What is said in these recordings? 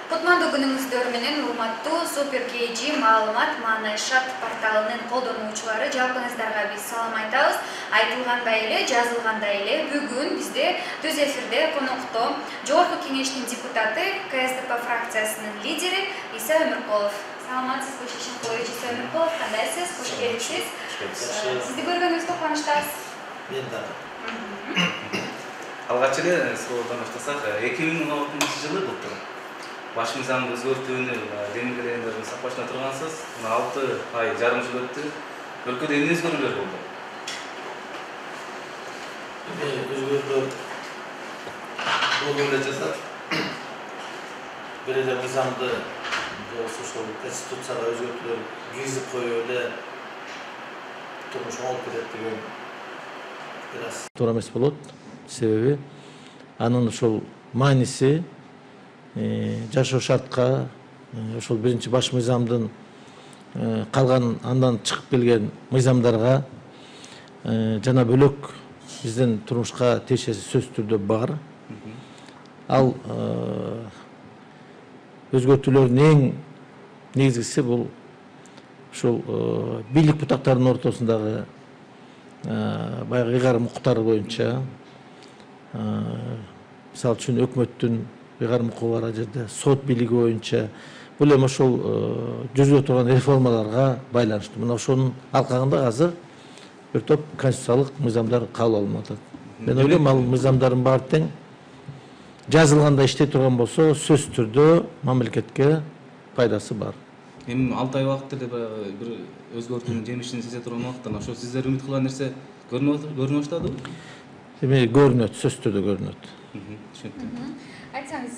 Кутмандуу күнүңүздөр менен урматтуу Супер KG маалымат маанайшат порталынын колдонуучулары, жалпыңыздарга биз салам айтабыз. Айтылгандай эле, жазылгандай эле бүгүн бизде түз эфирде конокто Жогорку Кеңештин депутаты, КСДП фракциясынын лидери Иса Өмүркулов. Саламатсызбы, Шишенкулович Иса Өмүркулов, кандайсыз? Кош келипсиз. Сизди көргөнүбүзгө кубанычтабыз. Мен да. Алгач эле суроодан баштасак, 2016 жылы былтыр баш мыйзамды өзгөртүүнү демилгелегендердин сапашына тургансыз. 6 ай жарым жыл өттү. Өлкөдө эмне өзгөрүүлөр болду? Өзгөрүүлөр болду эле жатат. Бир эле мыйзамды ошол конституцияга өзгөртүүлөр киргизип коюп эле турмуш оңолуп кетет деген пикир аз. Туура эмес болот. Себеби анын ошол мааниси жашоо шартка ошол биринчи баш мыйзамдын калган андан чыгып келген мыйзамдарга жана бөлөк биздин турмушка тиешеси сөзсүз түрдө бар. Ал өзгөртүүлөрдүн эң негизгиси бул ушул бийлик бутактарынын ортосундагы баягы ыйгарым укуктары боюнча, мисалы үчүн өкмөттүн ыйгарым укугу бар жерде сот бийлиги боюнча бул эми ошол жүзүгө турган реформаларга байланыштуу. Мына ошонун алкагында азыр бир топ конституциялык мыйзамдар кабыл алынып атат. Мен ойлойм, ал мыйзамдардын баары тең жазылганда иштей турган болсо, сөзсүз түрдө мамлекетке пайдасы бар. Эми 6 ай убакыт эле баягы бир өзгөртүүнүн жемишин сезе турган убакыттан ошо сиздер үмүт кылган нерсе көрүнө баштадыбы? Эми көрүнөт, сөзсүз түрдө көрүнөт. Түшүнүктүү. Айтсаңыз,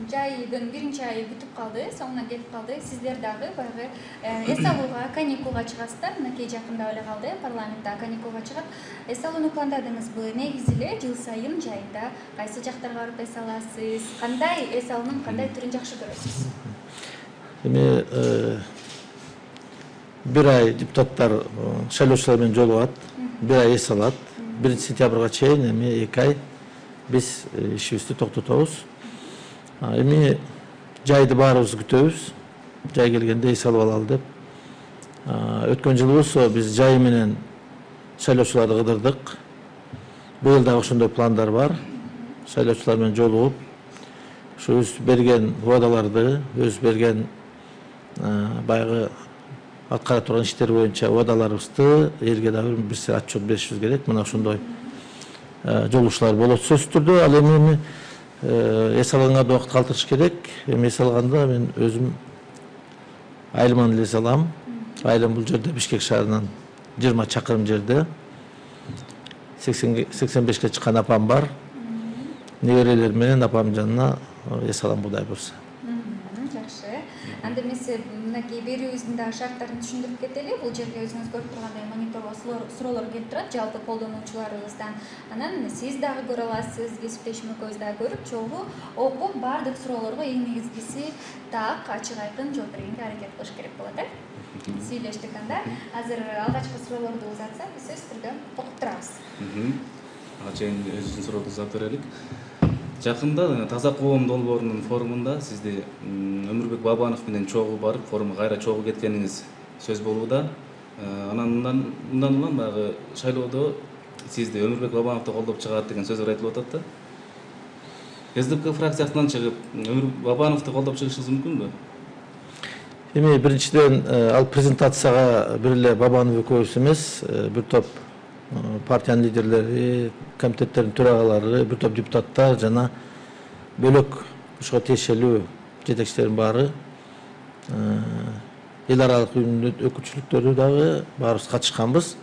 жайдын биринчи айы бүтүп калды, соңуна келип калды. Сиздер дагы баягы эс алууга, каникулга чыгасыздар. Мынакей жакындап эле калды, парламентте каникулга чыгат. Эс алууну пландадыңызбы? Негизи эле жыл сайын жайында кайсы жактарга барып эс аласыз? Кандай эс алуунун кандай түрүн жакшы көрөсүз? Эми бир ай депутаттар шайлоочулар менен жолугат, бир ай эс алат. 1 сентябрга чейин эми 2 ай биз ишибизди токтотобуз. Эми жайды баарыбыз күтөбүз. Жай келгенде эс алып алалы деп. Өткөн жылы болсо биз жай менен шайлоочуларды кыдырдык. Быйыл дагы ошондой пландар бар. Шайлоочулар менен жолугуп, ошо өз берген убадаларды, өз берген баягы аткара турган иштер боюнча убадаларыбызды элге дагы бир отчет беришибиз керек. Мына ошондой жолугушуулар болот сөзсүз түрдө. Ал эми эс алганга да убакыт калтырыш керек. Эми эс алганда мен өзүм айылыман эле эс алам. Айылым бул жерде Бишкек шаарынан 20 чакырым жерде. 85-ке чыккан апам бар. Неберелер менен апамдын жанына эс алам Кудай буйрса. Жакшы. Анда эмес мынакей берүүбүздүн да шарттарын түшүндүрүп кетели. Бул жерге өзүңүз көрүп тургандай мониторго суроолор келип турат жалпы колдонуучуларыбыздан. Анан сиз дагы көрө аласыз, кесиптешим экөөбүз дагы көрүп, чогуу окуп, баардык суроолорго эң негизгиси так, ачык айкын жооп бергенге аракет кылыш керек болот, Сүйлөштүк анда. Азыр алгачкы суроолорду узатса, биз сөзсүз түрдө окуп турабыз. Ага чейин өзүбүздүн суроолорду узатып берелик. Жакында Таза коом долбоорунун форумунда сизди Өмүрбек Бабанов менен чогуу барып, форумга кайра чогуу кеткениңиз сөз болууда. Анан мындан улам баягы шайлоодо сизди Өмүрбек Бабановду колдоп чыгат деген сөздөр айтылып атат да. КСДП фракциясынан чыгып Өмүрбек Бабановду колдоп чыгышыңыз мүмкүнбү? Эми биринчиден ал презентацияга бир эле Бабанов экөөбүз эмес, бир топ партиянын лидерлери, комитеттердин төрагалары, бир топ депутаттар жана бөлөк ушуга тиешелүү жетекчилердин баары, эл аралык уюмдун өкүлчүлүктөрү дагы баарыбыз катышканбыз.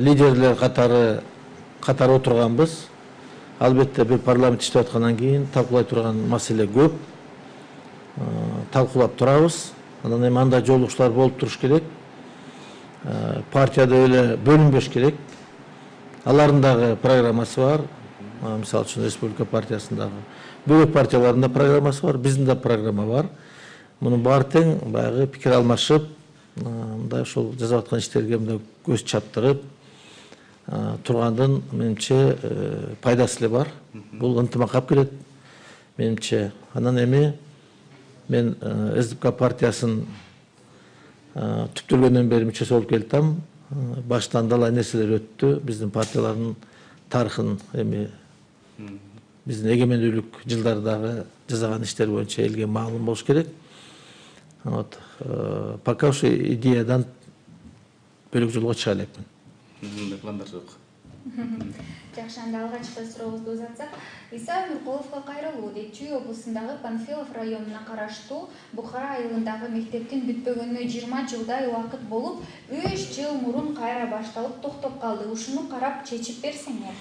Лидерлер катары отурганбыз. Албетте бир парламент иштеп аткандан кийин талкуулай турган маселе көп. Талкуулап турабыз. Анан эми андай жолугушуулар болуп туруш керек. Партияда эле бөлүнбөш керек. Алардын дагы программасы бар. Мисалы үчүн Республика партиясындагы бөлөк партиялардын да программасы бар, биздин да программа бар. Мунун баары тең баягы пикир алмашып, мындай ошол жасап аткан иштерге мындай көз чаптырып тургандын менимче пайдасы эле бар. Бул ынтымакка алып келет. менимче. Анан эми мен СДПК партиясын түптөлгөндөн бери мүчөсү болуп келатам. Баштан далай нерселер өттү. Биздин партиялардын тарыхын эми биздин эгемендүүлүк жылдарындагы жасаган иштер боюнча элге маалым болуш керек. Вот пока ошо идеядан бөлөк жолго чыга элекмин. Пландар жок. Жакшы, анда алгачкы сурообузду узатсак, Иса Өмүркуловго кайрылуу дейт. Чүй облусундагы Панфилов районуна караштуу Бухара айылындагы мектептин бүтпөгөнүнө 20 жылдай убакыт болуп, 3 жыл мурун кайра башталып токтоп калды. Ушуну карап чечип берсеңер.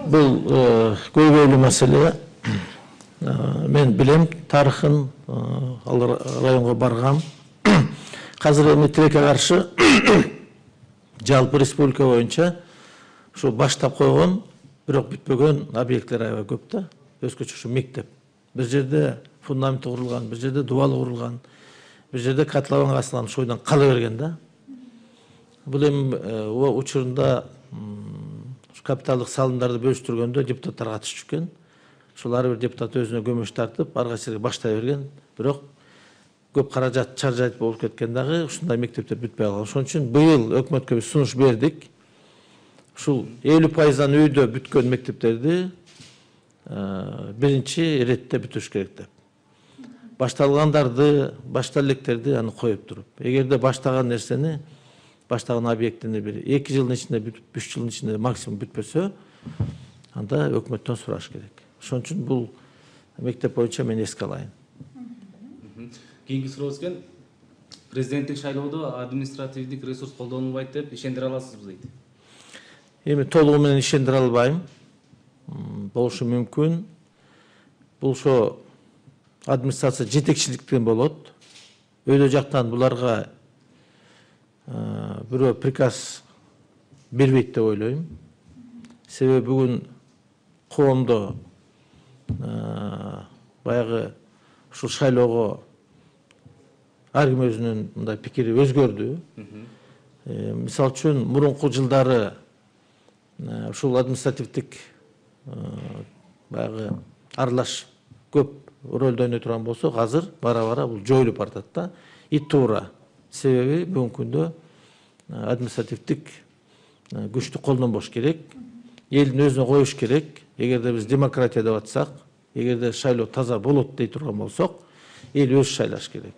Бул көйгөйлүү маселе. Мен билем тарыхын, ал районго баргам. Азыр эми тилекке каршы жалпы республика боюнча ушу баштап койгон, бирок бүтпөгөн объекттер аябай көп да. Өзгөчө ушу мектеп. Бир жерде фундаменти курулган, бир жерде дубалы курулган, бир жерде котлованга асылган, ошол бойдон кала берген да. Бул эми учурунда капиталдык салымдарды бөлүштүргөндө депутаттар катышып экен. Ошол ар бир депутат өзүнө көмөш тартып, ар кайсы жерге баштай берген. Бирок көп каражат чаржайт болуп кеткен дагы ушундай мектептер бүтпөй калган. Ошон үчүн быйыл өкмөткө биз сунуш бердик. Ушул 50%дан үйдө бүткөн мектептерди биринчи иретте бүтүрүш керек деп. Башталгандарды, баштала электерди аны коюп туруп. Эгерде баштаган нерсени, баштаган объектини бир 2 жылдын ичинде бүтүп, 3 жылдын ичинде максимум бүтпөсө, анда өкмөттөн сураш керек. Ошон үчүн бул мектеп боюнча мен эске алайын. Кийинки сурообуз экен. Президенттик шайлоодо административдик ресурс колдонулбайт деп ишендире аласызбы дейт. Эми толугу менен ишендире албайм. Болушу мүмкүн. Бул ошо администрация жетекчиликтен болот. Өйдө жактан буларга бирөө приказ бербейт деп ойлойм. Себеби бүгүн коомдо баягы ушул шайлоого ар ким өзүнүн мындай пикири өзгөрдү. Мисалы үчүн мурунку жылдары ушул административдик баягы аралаш көп ролду ойной турган болсок, азыр бара-бара бул жоюлуп баратат да. И туура. Себеби бүгүнкү күндө административдик күчтү колдонбош керек. Элдин өзүнө коюш керек. Эгерде биз демократия деп атсак, эгерде шайлоо таза болот дей турган болсок, эл өзү шайлаш керек.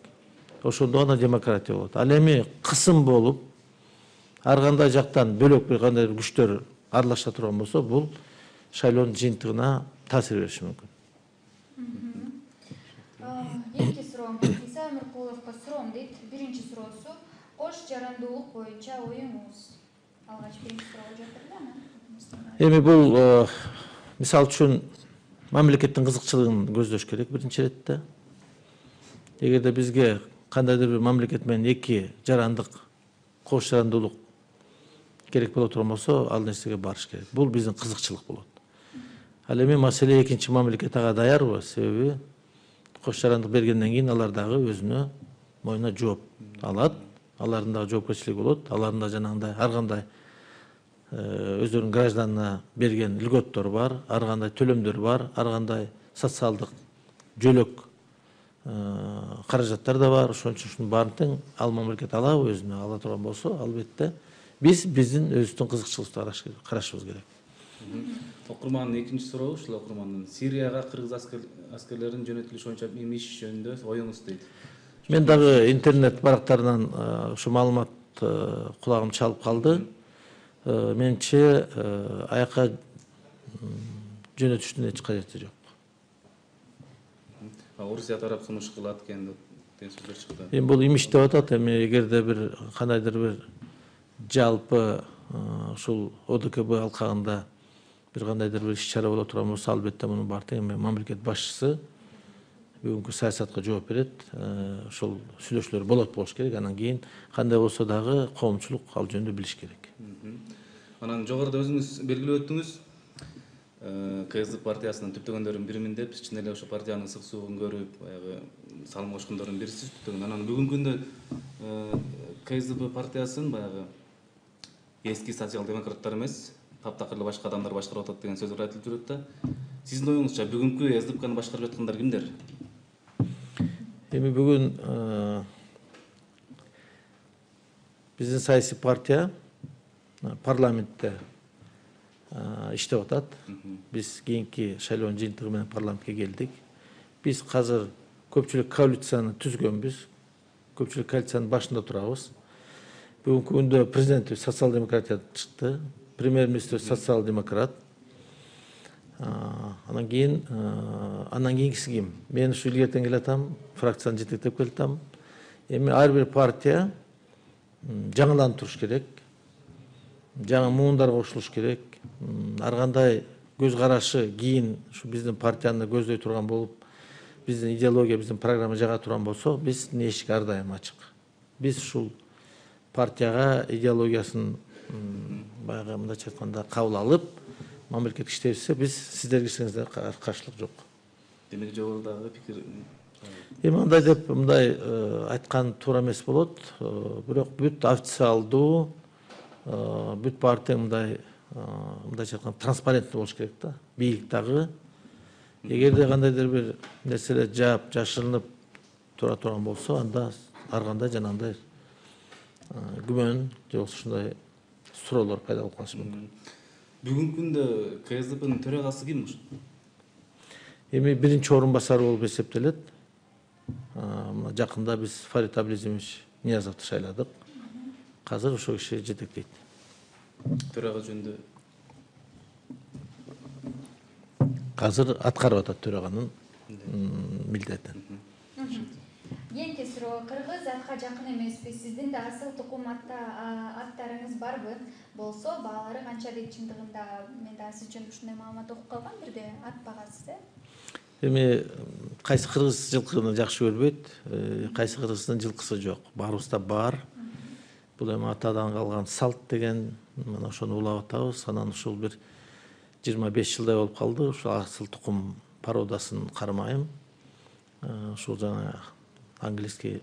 Ошондо гана демократия болот. Ал эми кысым болуп, ар кандай жактан бөлөк бир кандай күчтөр аралаша турган болсо, бул шайлоонун жыйынтыгына таасир бериши мүмкүн. Эки суроом. Иса Өмүркуловго суроом дейт. Биринчи суроосу кош жарандуулук боюнча оюңуз. Алгач биринчи суроо жатыр да. Эми бул мисалы үчүн мамлекеттин кызыкчылыгын көздөш керек биринчи иретте. Эгерде бизге кандайдыр бир мамлекет менен эки жарандык, кош жарандуулук керек боло турган болсо, ал нерсеге барыш керек. Бул биздин кызыкчылык болот. Ал эми маселе экинчи мамлекет ага даярбы? Себеби кош жарандык бергенден кийин алар дагы өзүнө моюна жооп алат. Алардын дагы жоопкерчилиги болот. Алардын да жанагындай ар кандай өздөрүнүн гражданына берген льготтор бар, ар кандай төлөмдөр бар, ар кандай социалдык жөлөк каражаттар да бар. Ошон үчүн ушунун баарын тең ал мамлекет алабы, өзүнө ала турган болсо, албетте биздин өзүбүздүн кызыкчылыктарды карашыбыз керек. Окурмандын экинчи сурообу ушул окурмандын Сирияга кыргыз аскерлеринин жөнөтүлүшү боюнча иш жөнүндө оюңуз дейт. Мен дагы интернет барактарынан ушу маалымат кулагым чалып калды. Менимче аяка жөнөтүштүн эч кажети жок. Орусия тарап сунуш кылат экен деген сөздөр чыкты. Эми бул имиш деп атат. Эми эгерде бир кандайдыр бир жалпы ушул ОДКБ алкагында бир кандайдыр бир иш-чара боло турган болсо, албетте мунун баары тең мамлекет башчысы бүгүнкү саясатка жооп берет. Ошол сүйлөшүүлөр болуш керек. Анан кийин кандай болсо дагы коомчулук ал жөнүндө билиш керек. Анан жогоруда өзүңүз белгилеп өттүңүз, КСДП партиясынын түптөгөндөрүнүн биримин деп, чын эле ошо партиянын ысык суун көрүп, баягы салым кошкондордун бирисиз түптөгөн. Анан бүгүнкү күндө КСДП партиясын баягы эски социал-демократтар эмес, таптакыр эле башка адамдар башкарып атат деген сөздөр айтылып жүрөт да. Сиздин оюңузча бүгүнкү СДПКны башкарып жаткандар кимдер? Эми бүгүн биздин саясий партия парламентте иштеп атат. Биз кийинки шайлоонун жыйынтыгы менен парламентке келдик. Биз азыр көпчүлүк коалицияны түзгөнбүз. Көпчүлүк коалициянын башында турабыз. Бүгүнкү күндө президентибиз социал-демократиядан чыкты. Премьер-министр социал-демократ. Анан кийинкиси ким? Мен ушу илгертен келатам, фракцияны жетектеп келатам. Эми ар бир партия жаңыланып туруш керек. Жаңы муундар кошулуш керек. Ар кандай көз карашы кийин ушу биздин партияны көздөй турган болуп, биздин идеология, биздин программа жага турган болсо, биздин эшик ар дайым ачык. Биз ушул партияга идеологиясын баягы мындайча айтканда кабыл алып, мамлекет иштебизсе, биз сиздерге кирсеңиздер каршылык жок. Демек жогорудагы пикир Эми андай деп айткан туура эмес болот. Бирок бүт официалдуу, бүт партия мындайча айтканда транспаренттүү болуш керек да. Бийлик дагы эгерде кандайдыр бир нерселер жаап, жашырынып тура турган болсо, анда ар кандай жанагындай күмөн же болбосо ушундай суроолор пайда болуп калышы мүмкүн. Бүгүнкү күндө КСДПнын төрагасы ким? Эми биринчи орун басары болуп эсептелет. Мына жакында биз Фарид Абилизимович Ниязовду шайладык. Азыр ошол киши жетектейт. Төрага жөнүндө Азыр аткарып атат төраганын милдетин. Кийинки суроо: кыргыз атка жакын эмеспи? Сиздин да асыл тукум аттарыңыз барбы? Болсо баалары канча дейт? Чындыгында мен да сиз жөнүндө ушундай маалымат окуп калгам, бирде ат багасы. Эми кайсы кыргыз жылкыны жакшы көрбөйт, кайсы кыргыздын жылкысы жок. Баарыбызда бар. Бул эми атадан калган салт деген, мына ошону улап атабыз. Анан ушул бир 25 жылдай болуп калды. Ушул асыл тукум породасын кармайм. Ушул жана английский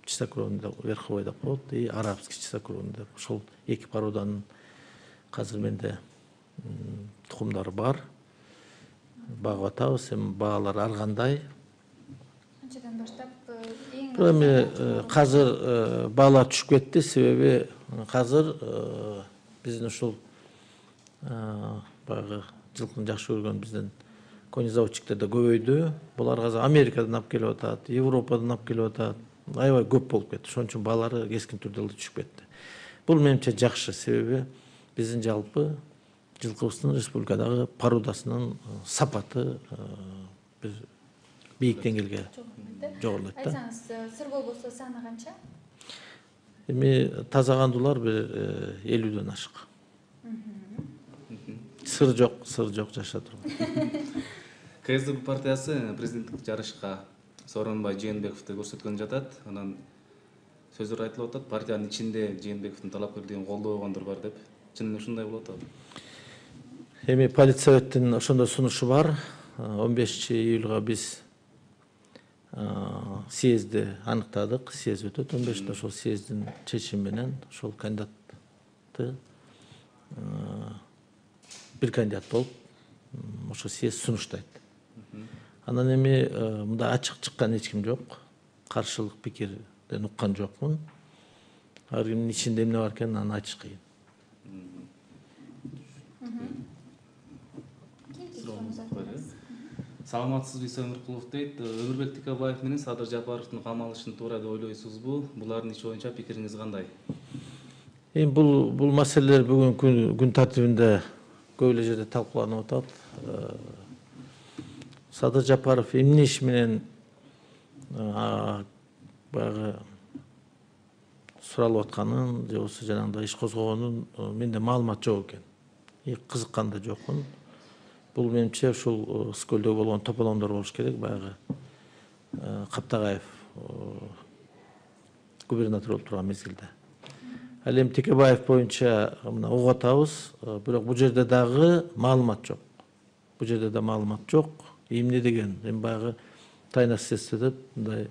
чистокровный верховой деп коет, и арабский чистокровный деп. Ошол эки породанын азыр менде тукумдары бар. Багып атабыз. Эми баалар ар кандай. Канчадан баштап Эми азыр баалар түшүп кетти, себеби азыр биздин ушул баягы жылкыны жакшы көргөн биздин конезаводчиктер да көбөйдү. Булар азыр Америкадан алып келип атат, Европадан алып келип атат. Аябай көп болуп кетти. Ошон үчүн баалары кескин түрдө түшүп кетти. Бул менимче жакшы, себеби биздин жалпы жылкыбыздын республикадагы породасынын сапаты бир бийик деңгээлге жогорулайт да. Айтсаңыз, сыр болбосо саны канча? Эми таза кандуулар бир 50дөн ашык. Сыр жок жашап турган. КСДП партиясы президенттик жарышка Сооронбай Жээнбековду көрсөткөн жатат. Анан сөздөр айтылып атат, партиянын ичинде Жээнбековдун талапкерлигин колдобогондор бар деп. Чынында ушундай болуп атабы? Эми политсоветтин ошондой сунушу бар. 15-июлга биз съезди аныктадык. Съезд өтөт 15-те. Ошол съездин чечими менен ошол кандидатты бир кандидат болуп ошо съезд сунуштайт. Анан эми мындай ачык чыккан эч ким жок. Каршылык пикирден уккан жокмун. Ар кимдин ичинде эмне бар экенин аны айтыш кыйын. Саламатсызбы Өмүркулов дейт. Өмүрбек Тикебаев менен Садыр Жапаровдун камалышын туура деп ойлойсузбу? Булардын иш боюнча пикириңиз кандай? Эми бул маселелер бүгүнкү күн тартибинде көп эле жерде талкууланып атат. Садыр Жапаров эмне иш менен баягы суралып атканын же болбосо жанагындай иш козгогонун менде маалымат жок экен. Кызыккан да жокмун. Бул менимче ушул Скөлдө болгон тополоңдор болуш керек. Баягы Каптагаев губернатор болуп турган мезгилде. Ал эми Текебаев боюнча мына угуп атабыз, бирок бул жерде дагы маалымат жок. Бул жерде да маалымат жок. Эмне деген? Эми баягы тайна следствие деп мындай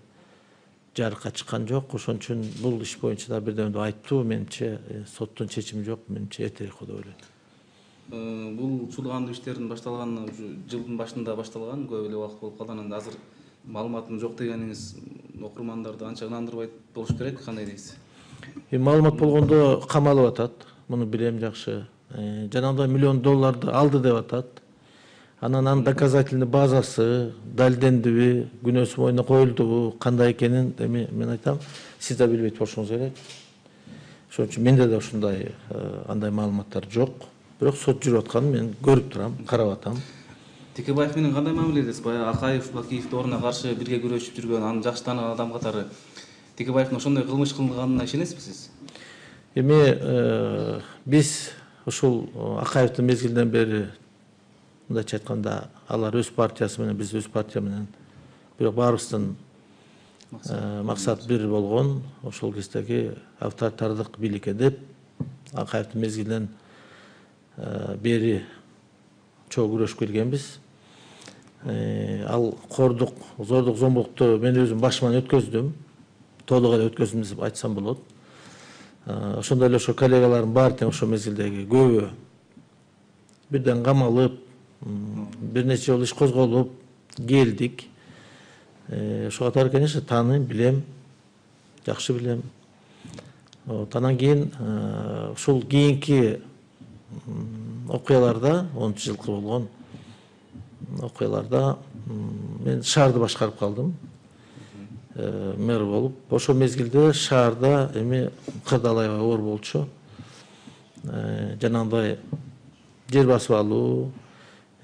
жарыкка чыккан жок. Ошон үчүн бул иш боюнча да бирдеме айтуу менимче соттун чечими жок, менимче эртерээк деп ойлойм. бул чуулгандуу иштердин башталганына жылдын башында башталган, көп эле убакыт болуп калган. Анан азыр маалыматым жок дегениңиз окурмандарды анча ынандырбайт болуш керек, кандай дейсиз? Маалымат болгондо камалып атат. Муну билем жакшы. Жанагындай $1 миллион алды деп атат. Анан анын доказательный базасы далилдендиби, күнөөсү мойнуна коюлдубу, кандай экенин эми мен айтам, сиз да билбейт болушуңуз керек. Ошон үчүн менде да ушундай андай маалыматтар жок. Бирок сот жүрүп атканын мен көрүп турам, карап атам. Текебаев менен кандай мамиледесиз? Баягы Акаев, Бакиев дооруна каршы бирге күрөшүп жүргөн, аны жакшы тааныган адам катары Текебаевдин ошондой кылмыш кылганына ишенесизби сиз? Эми биз ушул Акаевдин мезгилинен бери мындайча айтканда алар өз партиясы менен, биз өз партия менен, бирок баарыбыздын максат бир болгон, ошол кездеги авторитардык бийликке деп Акаевдин мезгилинен бери чогуу күрөшүп келгенбиз. Ал кордук, зордук, зомбулукту мен өзүм башыман өткөздүм. Толук эле өткөздүм деп айтсам болот. Ошондой эле ошо коллегаларым бар тең ошол мезгилдеги көбү бирден камалып, бир нече жолу иш козголуп келдик. Ошого катары, конечно, тааныйм, билем, жакшы билем. Анан кийин ушул кийинки окуяларда, 10-жылкы болгон окуяларда мен шаарды башкарып калдым. Мэр болуп, ошол мезгилде шаарда эми кырдаалайга оор болчу. Жанагындай жер басып алуу,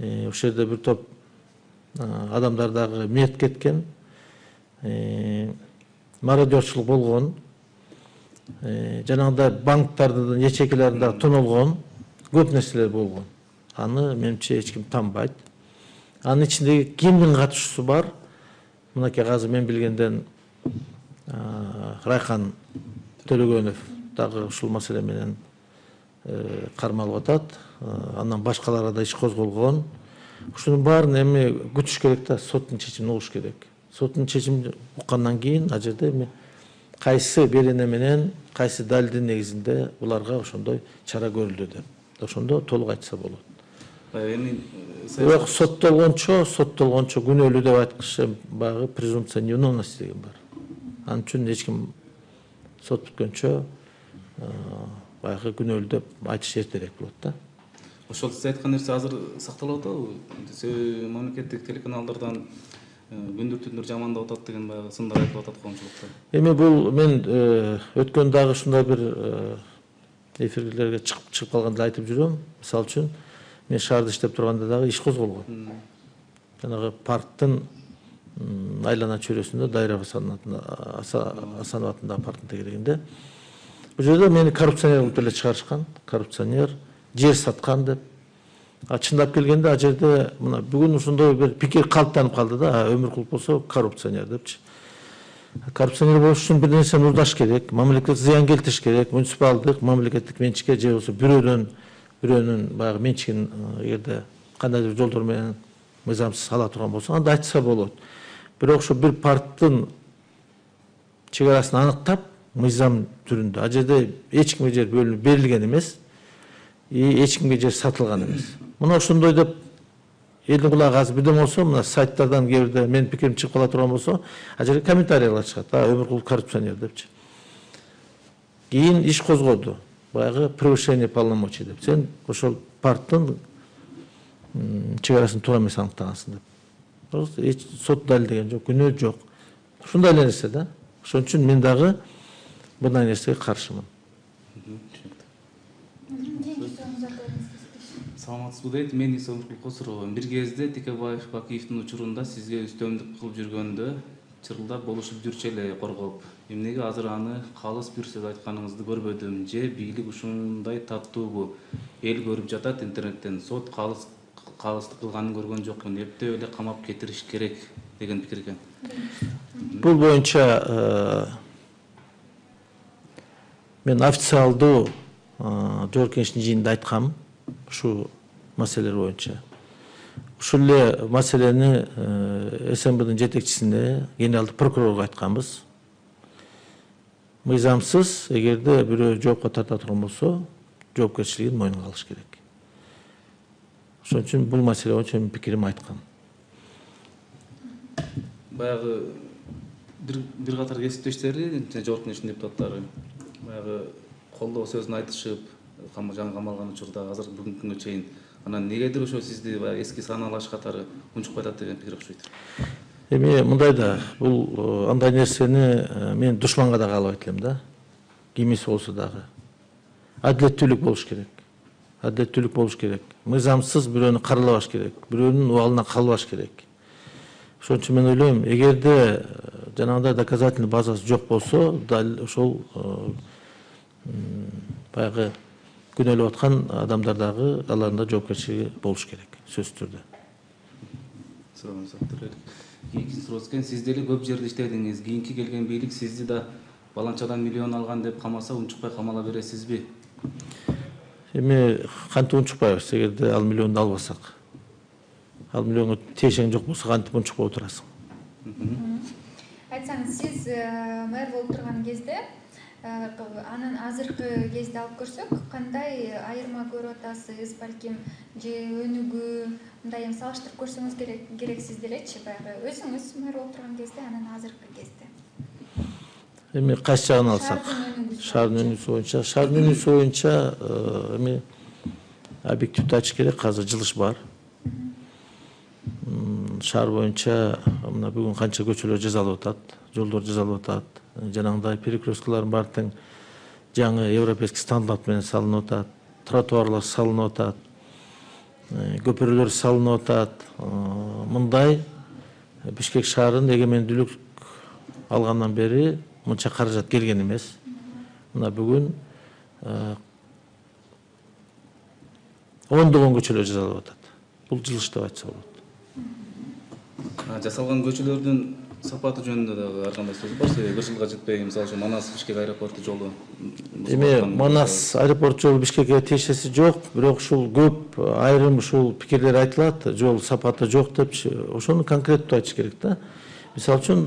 ошол жерде бир топ адамдар дагы мерт кеткен, мародерчулук болгон, жанагындай банктардын ячейкаларын дагы тонолгон, көп нерселер болгон. Аны менимче эч ким танбайт. Анын ичиндеги кимдин катышуусу бар? Мынакей азыр мен билгенден Райхан Төлөгөнов дагы ушул маселе менен кармалып атат. Андан башкаларга да иш козголгон. Ушунун баарын эми күтүш керек да, соттун чечимин угуш керек. Соттун чечимин уккандан кийин ал жерде эми кайсы берене менен, кайсы далилдин негизинде буларга ошондой чара көрүлдү деп. Ошондо толук айтса болот. Эми Бирок соттолгончо күнөөлүү деп айткычы баягы презумпция невиновности деген бар. Анын үчүн эч ким сот бүткөнчө баягы күнөөлүү деп айтыш эртерээк болот да. Ошол сиз айткан нерсе азыр сакталып атабы? Мамлекеттик телеканалдардан күндүр түндөр жамандап атат деген баягы сындар айтылып атат коомчулукта. Эми бул мен өткөн дагы ушундай бир эфирлерге чыгып калганда айтып жүрөм. Мисалы үчүн мен шаарда иштеп турганда дагы иш козголгон. Жанагы парктын айлана чөйрөсүндө Дайраб Асанов атындагы парктын тегерегинде. Бул жерде мени коррупционер кылып эле чыгарышкан. Коррупционер, жер саткан деп. Чындап келгенде ал жерде мына бүгүн ушундой бир пикир калыптанып калды да, Өмүркулов болсо коррупционер депчи. Коррупционер болуш үчүн бир нерсени уурдаш керек, мамлекетке зыян келтириш керек, муниципалдык, мамлекеттик менчикке же болбосо бирөөнүн баягы менчигин эгерде кандайдыр жолдор менен мыйзамсыз ала турган болсо, анда айтса болот. Бирок ошо бир парктын чегарасын аныктап, мыйзам түрүндө, ал жерде эч кимге жер бөлүнүп берилген эмес, эч кимге жер сатылган эмес. Мына ошондой деп элдин кулагы азыр бирден болсо, мына сайттардан кээ бирде менин пикирим чыгып кала турган болсо, ал жерге комментарийлер чыгат. Өмүркулов коррупционер депчи. Кийин иш козгоду. Баягы превышение полномочий деп. Сен ошол парктын чегарасын туура эмес аныктагансың деп. Просто эч сот далилдеген жок, күнөө жок. Ушундай эле нерсе да. Ошон үчүн мен дагы мындай нерсеге каршымын. Саламатсызбы дейт, мен Өмүркулов Косуровмун. Бир кезде Текебаев Бакиевдин учурунда сизге үстөмдүк кылып жүргөндө чырылдап болушуп жүрчү эле коргоп. Эмнеге азыр аны калыс бир сөз айтканыңызды көрбөдүм же бийлик ушундай таттуубу? Эл көрүп жатат интернеттен, сот калыстык кылганын көргөн жокмун, эптеп эле камап кетириш керек деген пикир экен. Бул боюнча мен официалдуу жогорку кеңештин жыйынында айткам ушу маселелер боюнча. Ушул эле маселени СМБдын жетекчисине, генералдык прокурорго айтканбыз. Мыйзамсыз эгерде бирөө жоопко тарта турган болсо, жоопкерчилигин мойнуна алыш керек. Ошон үчүн бул маселе боюнча мен пикиримди айткам. Баягы бир катар кесиптештери, жогорку кеңештин депутаттары баягы колдоо сөзүн айтышып, жаңы камалган учурда азыр бүгүнкү күнгө чейин анан негедир ошо сизди баягы эски санаалаш катары унчукпай атат деген пикир окшойт. Эми мындай да, бул андай нерсени мен душманга да каалабайт элем да. Кимиси болсо дагы. Адилеттүүлүк болуш керек. Адилеттүүлүк болуш керек. Мыйзамсыз бирөөнү каралабаш керек. Бирөөнүн убалына калбаш керек. Ошон үчүн мен ойлойм, эгерде жанагындай доказательный базасы жок болсо, дал ошол баягы күнөөлөп аткан адамдар дагы алардын да жоопкерчилиги болуш керек, сөзсүз түрдө. Кийинки суроо экен, сиз деле көп жерде иштедиңиз. Кийинки келген бийлик сизди да баланчадан миллион алган деп камаса, унчукпай камала бересизби? Эми кантип унчукпайбыз, эгерде ал миллионду албасак. Ал миллионго тиешең жок болсо кантип унчукпай отурасың? Айтсаңыз, сиз мэр болуп турган кезде, анын азыркы кезде алып көрсөк, кандай айырма көрүп атасыз, балким же өнүгүү, мындай эми салыштырып көрсөңүз керек сиз делечи, баягы өзүңүз мэр болуп турган кезде, анан азыркы кезде. Эми кайсы жагын алсак, шаардын өнүгүүсү боюнча эми объективдүү айтыш керек, азыр жылыш бар. Шаар боюнча мына бүгүн канча көчөлөр жасалып атат, жолдор жасалып атат. Жанагындай перекресткалардын баары тең жаңы европейский стандарт менен салынып атат, тротуарлар салынып атат, көпүрөлөр салынып атат. Мындай Бишкек шаарын эгемендүүлүк алгандан бери мынча каражат келген эмес. Мына бүгүн ондогон көчөлөр жасалып атат. Бул жылыш деп айтса болот. Жасалган көчөлөрдүн сапаты жөнүндө дагы ар кандай сөз бар. Себеби бир жылга жетпей, мисалы үчүн Манас Бишкек аэропорту жолу. Эми Манас аэропорт жолу Бишкекке тиешеси жок, бирок ушул көп айрым ушул пикирлер айтылат, жол сапаты жок деп, ошону конкреттүү айтыш керек да. Мисалы үчүн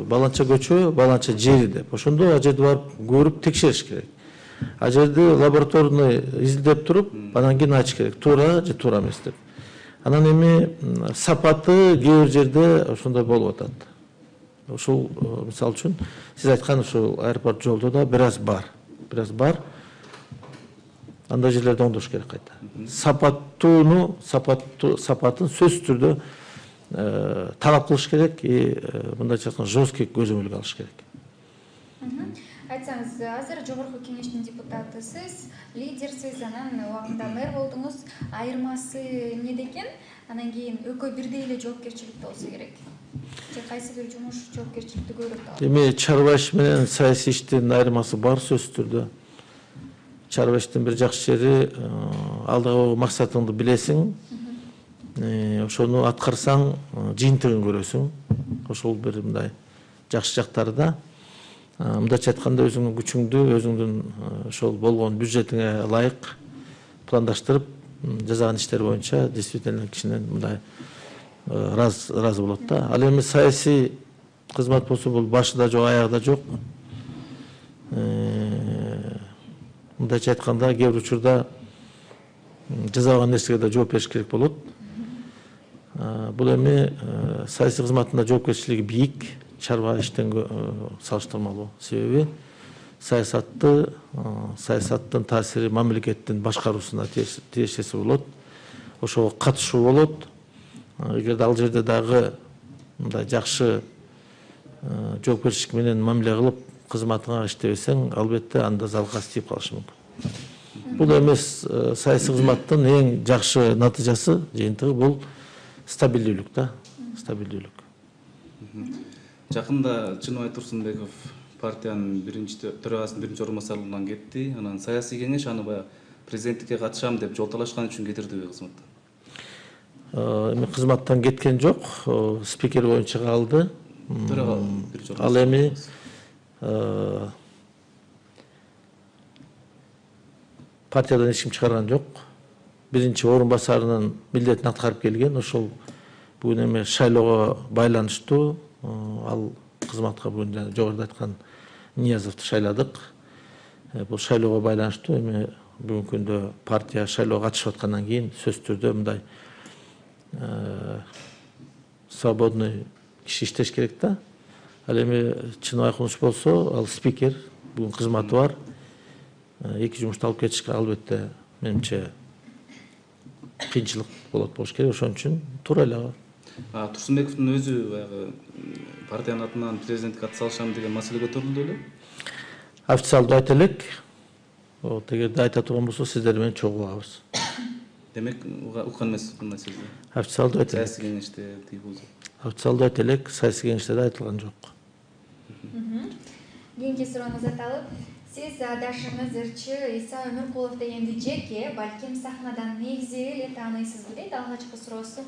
баланча көчө, баланча жери деп. Ошондо ал жерде барып көрүп текшериш керек. Ал жерди лабораторный изилдеп туруп, анан кийин айтыш керек, туура же туура эмес деп. Анан эми сапаты кээ бир жерде ошондой болуп атат. Ушул мисалы үчүн сиз айткан ушул аэропорт жолдо да бир аз бар. Андай жерлерди оңдош керек кайта. Сапатын сөзсүз түрдө талап кылыш керек и мындайча айтканда жесткий көзөмөлгө алыш керек. Айтсаңыз, азыр жогорку кеңештин депутатысыз, лидерсиз, анан убагында мэр болдуңуз. Айырмасы эмнеде экен? Анан кийин экөө бирдей эле жоопкерчиликте болсо керек. Же кайсы бир жумуш жоопкерчиликти көрөт? Эми чарба иш менен саясий иштин айырмасы бар сөзсүз түрдө. Чарба иштин бир жакшы жери алдагы максатыңды билесиң, ошону аткарсаң жыйынтыгын көрөсүң. Ошол бир мындай жакшы жактары да. Мындайча айтканда өзүңдүн күчүңдү, өзүңдүн ошол болгон бюджетиңе ылайык пландаштырып, жасаган иштер боюнча действительно кишинен мындай разы болот да. Ал эми саясий кызмат болсо бул башы да жок, аягы да жок. Мындайча айтканда кээ бир учурда жасабаган нерсеге да жооп бериш керек болот. Бул эми саясий кызматында жоопкерчилиги бийик, чарба иштен салыштырмалуу. Себеби саясаттын таасири мамлекеттин башкаруусуна тиешеси болот. Ошого катышуу болот. Эгерде ал жерде дагы мындай жакшы жоопкерчилик менен мамиле кылып кызматыңа иштебесең, албетте анда залкас тийип калышы мүмкүн. Бул эмес саясий кызматтын эң жакшы натыйжасы, жыйынтыгы бул стабилдүүлүк да, стабилдүүлүк. Жакында Чыныбай Турсунбеков партиянын төрагасынын биринчи орун басарылыгынан кетти. Анан саясий кеңеш аны баягы президенттикке катышам деп жол талашкан үчүн кетирдиби кызматтан? Эми кызматтан кеткен жок, спикер боюнча калды. Ал эми партиядан эч ким чыгарган жок. Биринчи орун басарынын милдетин аткарып келген. Ошол бүгүн эми шайлоого байланыштуу ал кызматка бүгүн жогоруда айткан Ниязовду шайладык. Бул шайлоого байланыштуу эми бүгүнкү күндө партия шайлоого катышып аткандан кийин сөзсүз түрдө мындай свободный киши иштеш керек да. Ал эми Чыныбай Кунуш болсо, ал спикер, бүгүн кызматы бар. Эки жумушту алып кетишке албетте менимче кыйынчылык болуш керек. Ошон үчүн туура эле. Турсунбековдун өзү баягы партиянын атынан президенттикке ат салышам деген маселе көтөрүлдү эле. Официалдуу айта элек. Эгерде айта турган болсо сиздер менен чогуу алабыз. Демек уккан эмес мындай сөздү. Официалдуу айта элек. Саясий кеңеште тийбуз. Официалдуу айта элек, саясий кеңеште да айтылган жок. Кийинки сурооңузду аталып, сиз адашыңыз ырчы Иса Өмүркулов дегенди жеке, балким сахнадан негизи эле тааныйсызбы дейт. Алгачкы суроосу.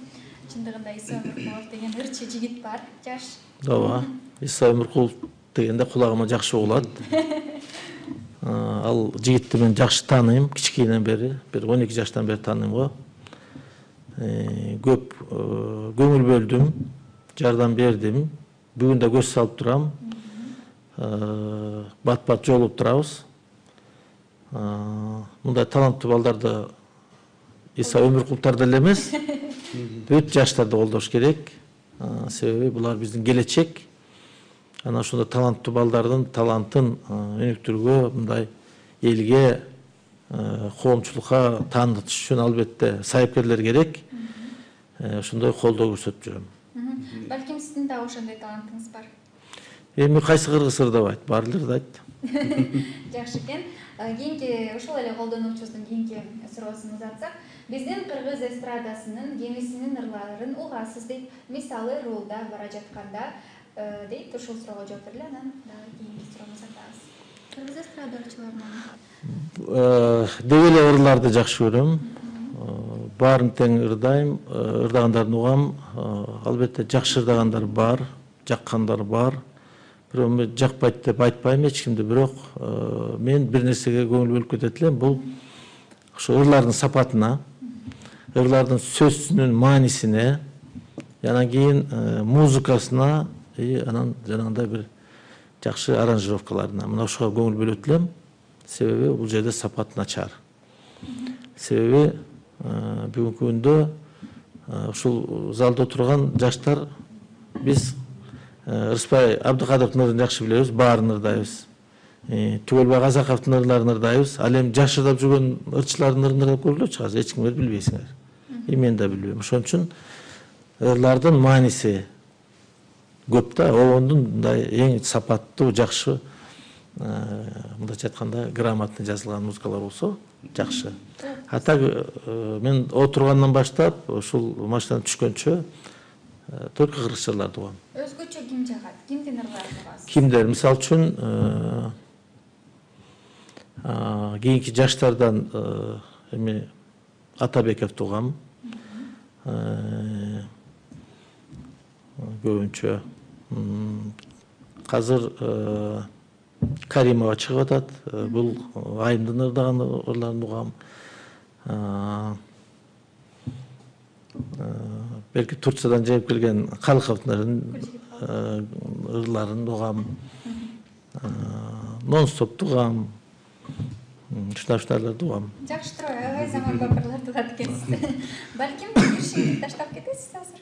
Чындыгында Иса Өмүркулов деген ырчы жигит бар, жаш. Ооба. Иса Өмүркулов дегенде кулагыма жакшы угулат. Ал жигитти мен жакшы тааныйм, кичинекейинен бери, бир 12 жаштан бери тааныйм го. Көп көңүл бөлдүм, жардам бердим. Бүгүн да көз салып турам. Бат-бат жолугуп турабыз. Мындай таланттуу балдарды Иса Өмүркуловтар деле эмес, бүт жаштарды колдош керек. Себеби булар биздин келечек. Ана ошондой таланттуу балдардын талантын өнүктүрүүгө, мындай элге, коомчулукка таанытыш үчүн албетте сайыпкерлер керек. Ошондой колдоо көрсөтүп жүрөм. Балким сиздин да ошондой талантыңыз бар. Эми кайсы кыргыз ырдап айт, баарлары айт. Жакшы экен. Кийинки ошол эле колдонуучубуздун кийинки суроосун узатсак, биздин кыргыз эстрадасынын кемисинин ырларын угасыз дейт. Мисалы рулда бара жатканда дейт. Ушул суроого жооп берели, анан дагы кийинки суроону узатабыз. Кыргыз эстрадачыларынан Деги эле ырларды жакшы көрөм. Баарын тең ырдайм, ырдагандарын угам. Албетте жакшы ырдагандар бар, жаккандар бар. Бирок мен жакпайт деп айтпайм эч кимди, бирок мен бир нерсеге көңүл бөлүп кетет элем. Бул ошо ырлардын сапатына, ырлардын сөзүнүн маанисине, анан кийин музыкасына, анан жанагындай бир жакшы аранжировкаларына. Мына ошого көңүл бөлөт элем. Себеби бул жерде сапат начар. Себеби бүгүнкү күндө ушул залда отурган жаштар биз Рыспай Абдыкадыровдун ырын жакшы билебиз, баарын ырдайбыз. Түгөлбай Казаковдун ырларын ырдайбыз. Ал эми жаш ырдап жүргөн ырчылардын ырын ырдап көргүлөчү, азыр эч кимдер билбейсиңер. Мен да билбейм. Ошон үчүн ырлардын мааниси көп да, ондун мындай эң сапаттуу, жакшы, мындайча айтканда, грамотный жазылган музыкалар болсо жакшы. А так мен отургандан баштап ушул машинадан түшкөнчө только кыргызча ырларды угам. өзгөчө ким жагат? Кимдин ырларын угасыз? Кимдер? Мисалы үчүн кийинки жаштардан эми Атабековду угам. Көбүнчө азыр Каримова чыгып атат. Бул Айымдын ырдаган ырларын угам. Белки Турциядан жайып келген Калыковдун ырларын угам. Нон-стопту угам. Ушундайларды угам. Жакшы туруп, аябай заманбап ырларды угат экенсиз. Балким бир шеги таштап кетесиз азыр.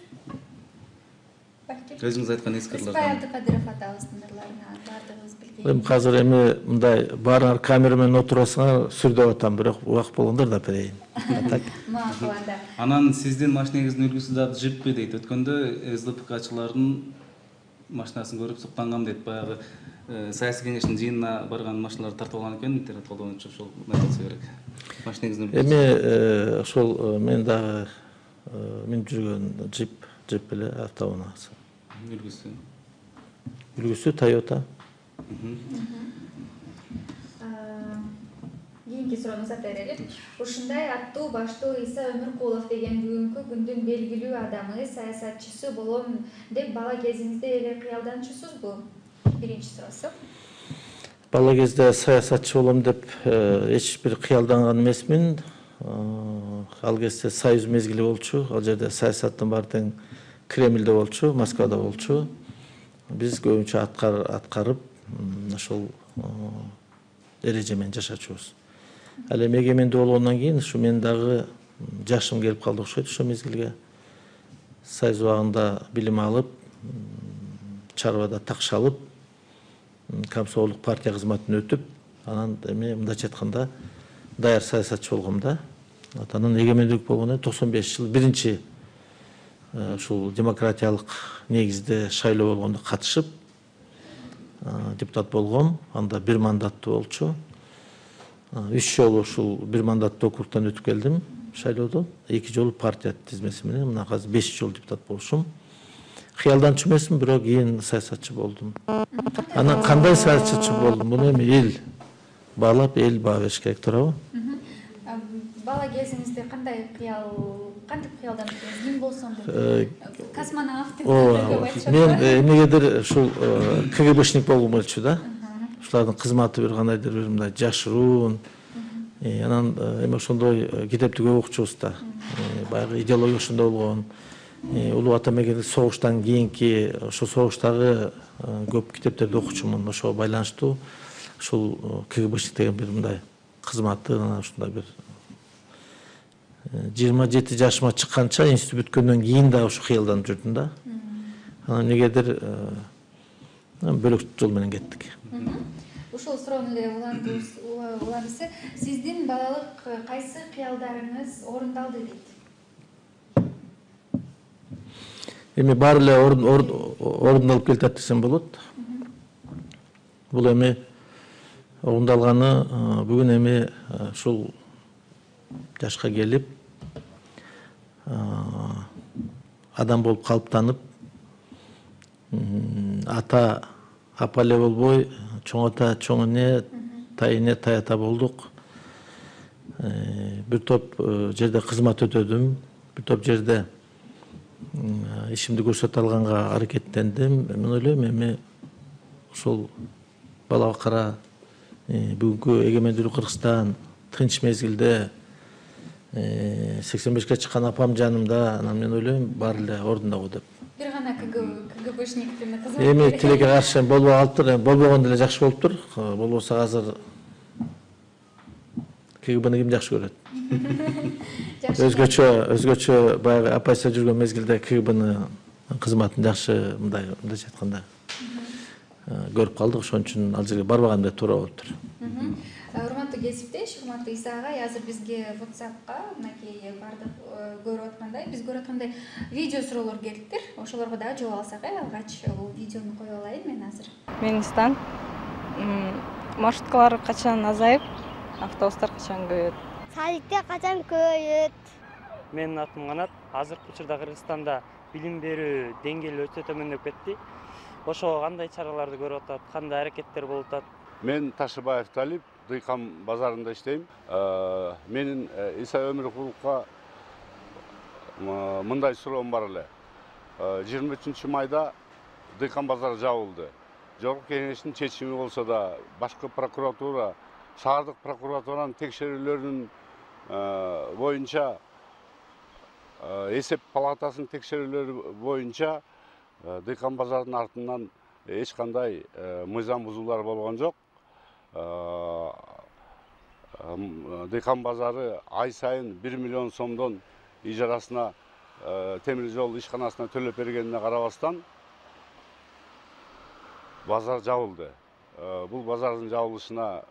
Балким. Өзүңүз айткан эски Рыспай ырлардан. Абдыкадыров атабыздын ырларына баардыгыбыз билген. Эми азыр эми мындай баарыңар камера менен отурасыңар, сүрдөп атам, бирок убак болгондо да берейин. Макул анда. Анан сиздин машинеңиздин үлгүсү дагы жиппи дейт. Өткөндө СДПКчылардын машинасын көрүп суктангам дейт. Баягы саясий кеңештин жыйынына барган машиналарды тартып алган экен, интернет колдонуучу ошол айтылса керек. Машинеңиздин үлгүсү. Эми ошол мен дагы минип жүргөн джип эле автоунаасы. Үлгүсү. Үлгүсү Toyota. Кийинки суроону узата берели. Ушундай аттуу баштуу Иса Өмүркулов деген бүгүнкү күндүн белгилүү адамы, саясатчысы болом деп бала кезиңизде эле кыялданчусузбу? Биринчи суроосу. Бала кезде саясатчы болом деп эч бир кыялданган эмесмин. Ал кезде Союз мезгили болчу. Ал жерде саясаттын баары тең Кремльде болчу, Москвада болчу. Биз көбүнчө аткарып ошол эрежемен жашачубуз. Ал эми эгемендүү болгондон кийин ушу мен дагы жашым келип калды окшойт ошол мезгилге. Союз убагында билим алып, чарбада такшалып, комсомолдук партия кызматын өтүп, анан эми мындайча айтканда даяр саясатчы болгом да. Анан эгемендүүлүк болгондон 95 жыл биринчи ушул демократиялык негизде шайлоо болгондо катышып депутат болгом. Анда 1 мандаттуу болчу. 3 жолу ушул 1 мандаттуу округтан өтүп келдим шайлоодон. 2 жолу партия тизмеси менен мына азыр 5 жол депутат болушум. Кыялданчу эмесмин, бирок кийин саясатчы болдум. Анан кандай саясатчы болдум? Муну эми эл баалап, эл баа бериш керек, туурабы? Бала кезиңизде кантип кыялдандыңыз? Ким болсом деп? Космонавт деп айтышат. Мен эмнегедир ушул КГБшник болгум келчү да. Ушулардын кызматы бир кандайдыр бир мындай жашыруун. Анан эми ошондой китепти көп окучубуз да. Баягы идеология ошондой болгон. Улуу ата мекенде согуштан кийинки ошо согуштагы көп китептерди окучумун. Ошого байланыштуу ушул КГБшник деген бир мындай кызматы, анан ушундай бир 27 жашыма чыкканча институт бүткөндөн кийин да ушу кыялданып жүрдүм да. Анан эмнегедир бөлөк жол менен кеттик. Ушул суроону эле улантысы, сиздин балалык кайсы кыялдарыңыз орундалды дейт? Эми баары эле орундалып келатат десем болот. Бул эми орундалганы бүгүн эми ушул жашка келип адам болуп калыптанып, ата апа эле болбой, чоң ата чоң эне, тай эне тай ата болдук. Бир топ жерде кызмат өтөдүм, бир топ жерде ишимди көрсөтө алганга аракеттендим. Мен ойлойм эми ошол балага кара бүгүнкү эгемендүүлүк Кыргызстан тынч мезгилде 85-ке чыккан апам жанымда, анан мен ойлойм баары эле ордундагы деп. Бир гана КГБшниктин кызматы. Эми тилекке каршы болбой калыптыр, болбогондо эле жакшы болуптур. Болбосо азыр КГБны ким жакшы көрөт? Өзгөчө баягы апайса жүргөн мезгилде КГБны кызматын жакшы мындайча айтканда көрүп калдык. Ошон үчүн ал жерге барбаган да туура болуптур. Урматтуу кесиптеш, урматтуу Иса агай, азыр бизге WhatsApp'ка мынакей бардык көрүп аткандай, биз көрүп аткандай видео суроолор келиптир. Ошолорго дагы жооп алсак, алгач бул видеону кое алайын мен азыр. Менистан маршруткалар качан азайып, автобустар качан көбөйөт? Садикте качан көбөйөт? Менин атым Канат. Азыркы учурда Кыргызстанда билим берүү деңгээли өтө төмөндөп кетти. Ошого кандай чараларды көрүп атат, кандай аракеттер болуп атат? Мен Ташыбаев Талип, Дыйкан базарында иштейм. Менин Иса Өмүркуловго мындай суроом бар эле. 23 майда Дыйкан базары жабылды. Жогорку кеңештин чечими болсо да, башкы прокуратура, шаардык прокуратуранын текшерүүлөрүнүн боюнча, эсеп палатасынын текшерүүлөрү боюнча Дыйкан базарынын артынан эч кандай мыйзам бузуулар болгон жок. Дыйкан базары ай сайын 1 миллион сомдон ижарасына темир жол ишканасына төлөп бергенине карабастан базар жабылды. Бул базардын жабылышына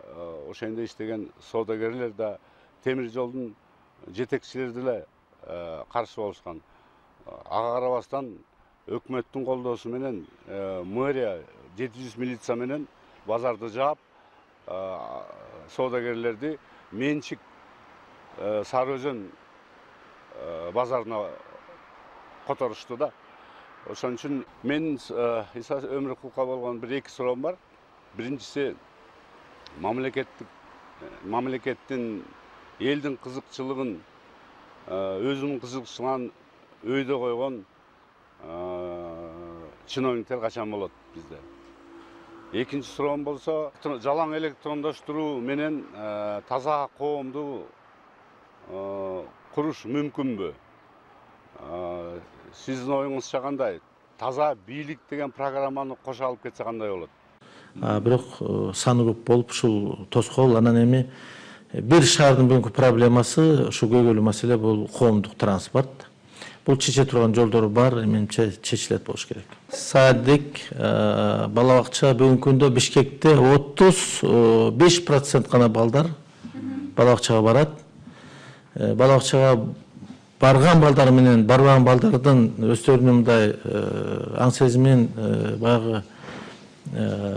ошондо иштеген соодагерлер да, темир жолдун жетекчилери деле каршы болушкан. Ага карабастан өкмөттүн колдоосу менен мэрия 700 милиция менен базарды жаап, соодагерлерди менчик Сары Өзөн базарына которушту да. Ошон үчүн мен Иса Өмүркуловго болгон бир эки суроом бар. Биринчиси, мамлекеттин элдин кызыкчылыгын өзүнүн кызыкчылыгын өйдө койгон чиновниктер качан болот бизде? Экинчи суроом болсо, жалаң электрондоштуруу менен таза коомду куруш мүмкүнбү? Сиздин оюңузча кандай? Таза бийлик деген программаны кошо алып кетсе кандай болот? Бирок саны көп болуп ушул тоскоол, анан эми Бир шаардын бүгүнкү проблемасы ушу көйгөйлүү маселе бул коомдук транспорт. Бул чече турган жолдор бар, менимче чечилет болуш керек. Садик, бала бакча бүгүнкү күндө Бишкекте 35% гана балдар бала бакчага барат. Бала бакчага барган балдар менен барбаган балдардын өздөрүнүн мындай аң сезимин баягы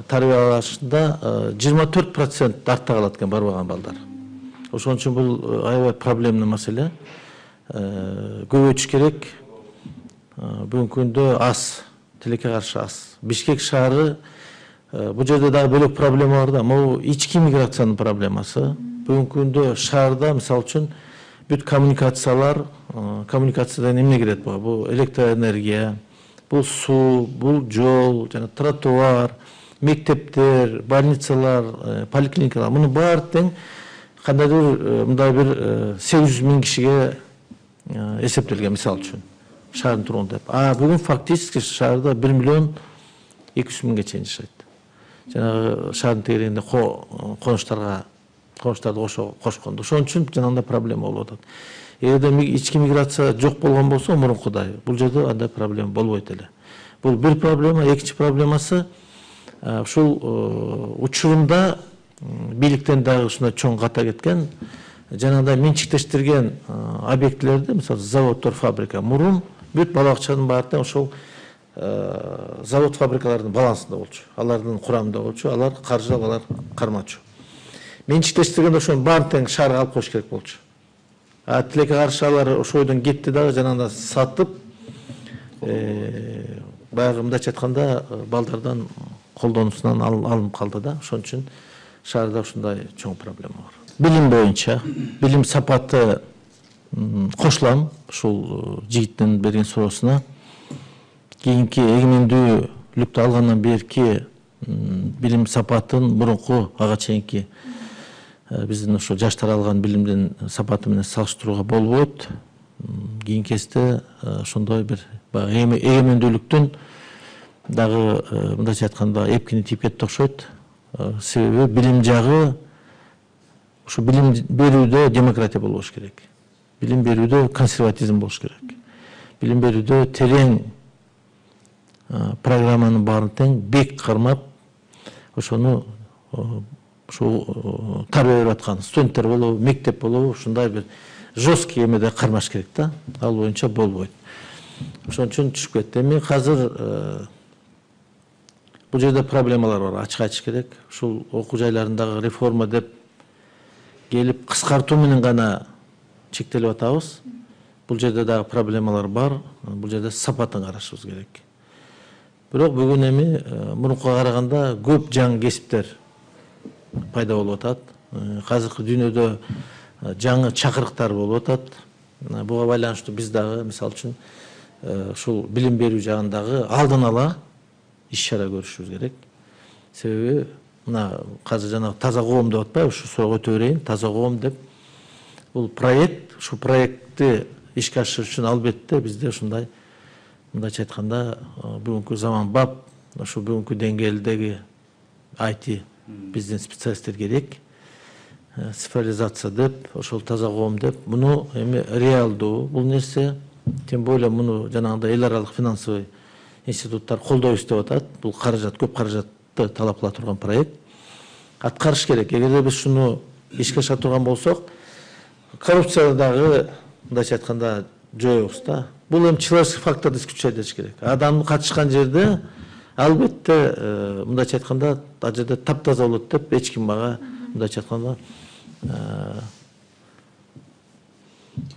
тарбиялашында 24% артта калат экен барбаган балдар. Ошон үчүн бул аябай проблемный маселе. Көбөйтүш керек. Бүгүнкү күндө аз, тилекке каршы аз. Бишкек шаары бул жерде дагы бөлөк проблема бар да, могу ички миграциянын проблемасы. Бүгүнкү күндө шаарда мисалы үчүн бүт коммуникациялар, коммуникациядан эмне кирет буга? Бул электроэнергия, бул суу, бул жол, жана тротуар, мектептер, больницалар, поликлиникалар. Мунун баары тең кандайдыр мындай бир 800 000 кишиге эсептелген мисалы үчүн шаардын тургунду деп. Бүгүн фактически шаарда 1 миллион 200 000ге чейин жашайт. Жанагы шаардын тегерегинде конуштарды кошкондо. Ошон үчүн жанагындай проблема болуп атат. Эгерде ички миграция жок болгон болсо мурункудай, бул жерде андай проблема болбойт эле. Бул бир проблема, экинчи проблемасы ушул учурунда бийликтен дагы ушундай чоң ката кеткен жанагындай менчиктештирген объектилерди, мисалы заводдор, фабрика. Мурун бүт бала бакчанын баары ошол завод, фабрикалардын балансында болчу. Алардын курамында болчу, алар каржылап, алар кармачу. Менчиктештиргенде ошонун баарын тең шаарга алып коюш керек болчу. Тилекке каршы алар ошол ойдон кетти дагы жанагындай сатып, баягы мындайча айтканда балдардан колдонуусунан алынып калды да. Ошон үчүн шаарда ушундай чоң проблема бар. Билим боюнча, билим сапаты кошулам ушул жигиттин берген суроосуна. Кийинки эгемендүүлүктү алгандан берки билим сапатын мурунку ага чейинки биздин ошо жаштар алган билимдин сапаты менен салыштырууга болбойт. Кийинки кезде ошондой бир эгемендүүлүктүн дагы мындайча айтканда эпкини тийип кетти окшойт. Себеби билим жагы ушу билим берүүдө демократия болуш керек. Билим берүүдө консерватизм болуш керек. Билим берүүдө терең программанын баарын тең бек кармап, ошону ушу тарбия берип аткан студенттер болобу, мектеп болобу, ушундай бир жесткий эмеде кармаш керек да. Ал боюнча болбойт. Ошон үчүн түшүп кетти. Эми азыр бул жерде проблемалар бар, ачык айтыш керек. Ушул окуу жайларындагы реформа деп келип кыскартуу менен гана чектелип атабыз. Бул жерде дагы проблемалар бар. Бул жерде сапатын карашыбыз керек. Бирок бүгүн эми мурункуга караганда көп жаңы кесиптер пайда болуп атат. Азыркы дүйнөдө жаңы чакырыктар болуп атат. Буга байланыштуу биз дагы мисалы үчүн ушул билим берүү жагындагы алдын ала иш-чара көрүшүбүз керек. Себеби мына азыр жана таза коом деп атпайбы, ушу суроого өтө берейин. Таза коом деп бул проект, ушу проектти ишке ашырыш үчүн албетте бизде ушундай мындайча айтканда бүгүнкү заманбап, ушу бүгүнкү деңгээлдеги IT биздин специалисттер керек. Цифровизация деп, ошол таза коом деп, муну эми реалдуу бул нерсе, тем более муну жанагындай эл аралык финансовый институттар колдойбуз деп атат. Бул каражат, көп каражатты талап кыла турган проект. Аткарыш керек. Эгерде биз шуну ишке аша турган болсок, коррупцияны дагы мындайча айтканда жоебуз да. Бул эми человеческий фактор исключать этиш керек. Адам катышкан жерде албетте мындайча айтканда ал жерде таптаза болот деп эч ким мага мындайча айтканда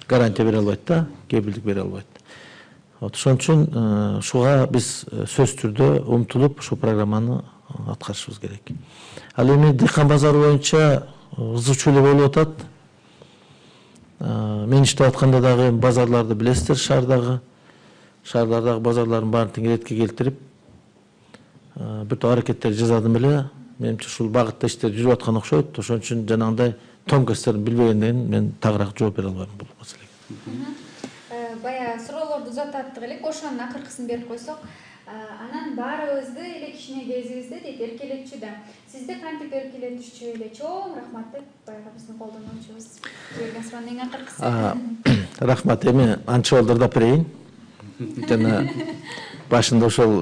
гарантия бере албайт да, кепилдик бере албайт. Ошон үчүн ушуга биз сөзсүз түрдө умтулуп ушул программаны аткарышыбыз керек. Ал эми дыйкан базары боюнча кызыгчу эле болуп атат. Мен иштеп атканда дагы базарларды билесиздер, шаардардагы базарлардын баарын тең иретке келтирип бир топ аракеттер жасадым эле. Менимче ушул багытта иштер жүрүп аткан окшойт. Ошон үчүн жанагындай тонкостторун билбегенден мен тагыраак жооп бере албайм бул маселеге. Бая суроолорду узататтык элек, ошонун акыркысын берип койсок, Анан баарыбызды эле кичине кезибизде дейт эркелетчү да. Сизди кантип эркелетишчү эле? Чоң рахмат деп баягы биздин колдонуучубуз берген суроонун эң акыркысы. Рахмат. Эми анча балдырдап берейин. Жана башында ошол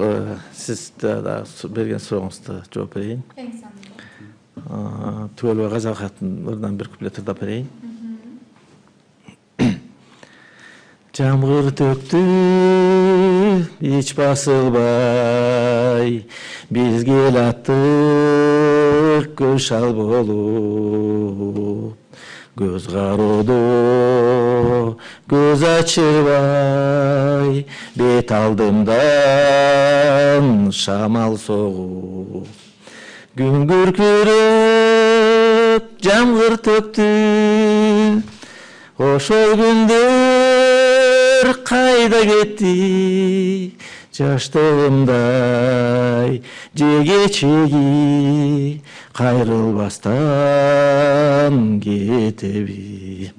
сиз берген сурооңузду жооп берейин. Эң сонун. Түгөлбай Казакаттын бир куплет ырдап берейин. Жамгыр төктү эч басылбай, биз келаттык көз шал болуп, көз кароодо көз ачырбай, бет алдымдан шамал согуп, күн күркүрөп жамгыр төктү, ошол күндөр кайда кетти, жаштыгымдай же кечеги кайрылбастан кетеби.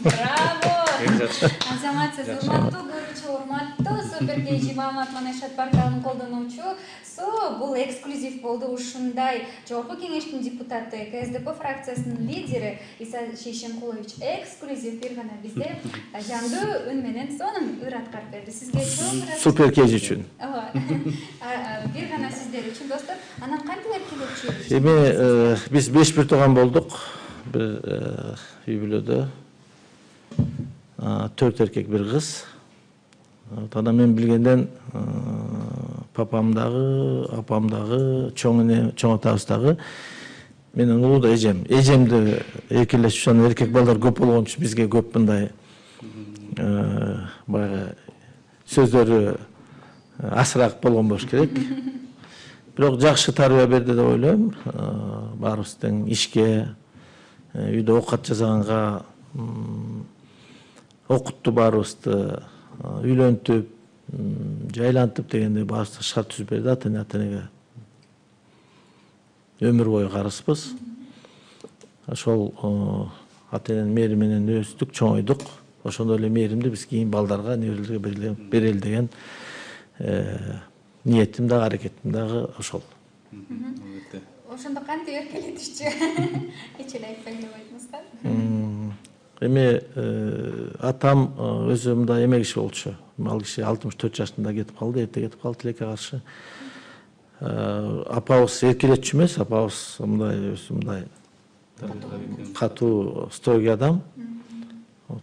Браво! Азаматсыз урматтуу көрүүчү, урматтуу Супер KG Маамат Манашат порталынын колдонуучусу. Бул эксклюзив болду. Ушундай жогорку кеңештин депутаты, КСДП фракциясынын лидери Иса Шейшенкулович эксклюзив бир гана бизде жандуу үн менен сонун ыр аткарып берди. Сизге чоң рахмат. Супер KG үчүн. Бир гана сиздер үчүн достор. Анан кантип эркелетчү? Эми биз 5 тууган болдук. Бир үй бүлөдө 4 эркек, 1 кыз. Анан мен билгенден папам дагы, апам дагы, чоң атабыз дагы менен улуу да эжемди эркелетишип, анан эркек балдар көп болгон үчүн бизге көп мындай баягы сөздөрү асыраак болгон болуш керек. Бирок жакшы тарбия берди деп ойлойм. Баарыбыз тең ишке, үйдө оокат жасаганга окутту баарыбызды, үйлөнтүп, жайлантып дегенде баарыбызга шарт түзүп берди. Ата-энеге өмүр бою карызбыз. Ошол ата-эненин мээри менен өстүк, чоңойдук. Ошондой эле мээримди биз кийин балдарга, неберелерге берели деген ниетим дагы, аракетим дагы ошол. Ошондо кантип эркелетишчү? Эч эле айтпайм деп айтыңызда. Эми атам өзү мындай эмек киши болчу. Ал киши 64 жашында кетип калды, эрте кетип калды тилекке каршы. Апабыз эркелетчү эмес, апабыз мындай өзү мындай катуу, строгий адам.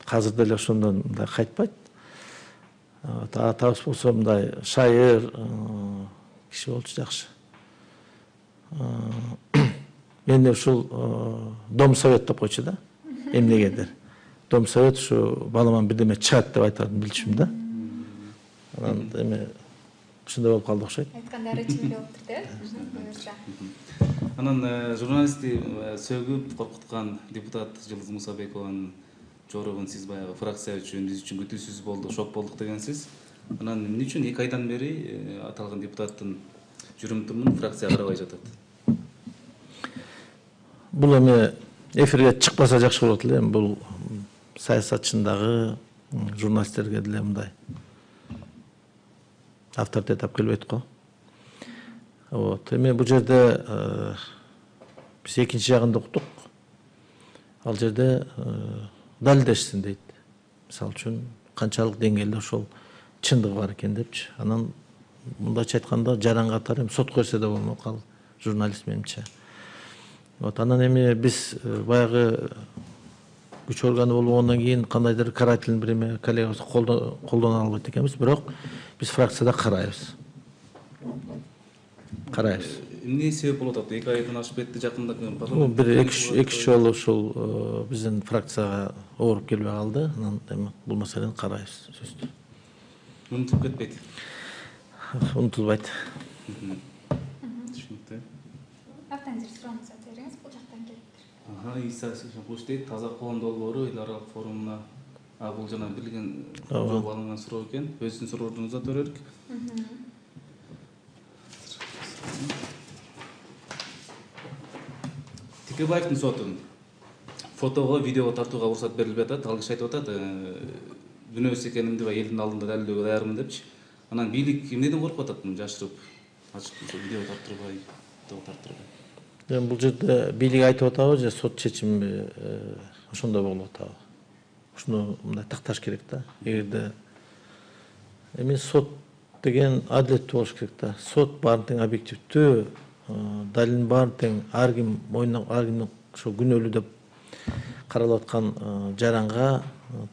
Азыр деле ошондон мындай кайтпайт. Атабыз болсо мындай шайыр киши болчу, жакшы. Мен ушул дом совет деп койчу да. Эмнегедир. Дом совет ушу баламан бирдеме чыгат деп айтарын билчүм да. Анан эми ушундай болуп калды окшойт. Айткандары чын болуптур да. Буюрса. Анан журналистти сөгүп коркуткан депутат Жылдыз Мусабекованын жоробун сиз баягы фракция үчүн, биз үчүн күтүүсүз болду, шок болдук дегенсиз. Анан эмне үчүн 2 айдан бери аталган депутаттын жүрүм-турумун фракция карабай жатат? Бул эми эфирге чыкпаса жакшы болот эле. Бул саясатчындагы журналисттерге деле мындай авторитет алып келбейт го. Эми бул жерде биз экинчи жагында уктук. Ал жерде далилдешсин дейт. Мисалы үчүн канчалык деңгээлде ошол чындыгы бар экен депчи. Анан мындайча айтканда жаран катары сот көрсө да болмок ал журналист менимче. Анан эми биз баягы күч органы болгондон кийин кандайдыр карательный бир коллегабызды колдоно албайт экенбиз, бирок биз фракцияда карайбыз. Эмне себеп болуп атат? 2 айдан ашып кетти, жакында бир 2 жолу ушул биздин фракцияга ооруп келбей калды. Анан эми бул маселени карайбыз, сөзсүз. Унутуп кетпейт. Унутулбайт. Түшүнүктүү. Автандыр сурооңузду бериңиз, бул жактан келиптир. Иса Шейшенкулович дейт, таза коом долбоору эл аралык форумуна бул жана билген жооп алынган суроо экен. Өзүнүн суроону узата берелик. Текебаевдин сотун фотого, видеого тартууга уруксат берилбей атат. Ал киши айтып атат, күнөөсүз экенимди элдин алдында далилдөөгө даярмын депчи. Анан бийлик эмнеден коркуп атат муну жашырып, ачык видео тартырбай, тартырбай? Эми бул жерде бийлик айтып атабы же сот чечими ошондой болуп атабы? Ушуну мындай такташ керек да. Эгерде эми сот деген адилеттүү болуш керек да. Сот баарын тең объективдүү, далилдин баарын тең ар ким мойнуна ошо күнөөлүү деп каралып аткан жаранга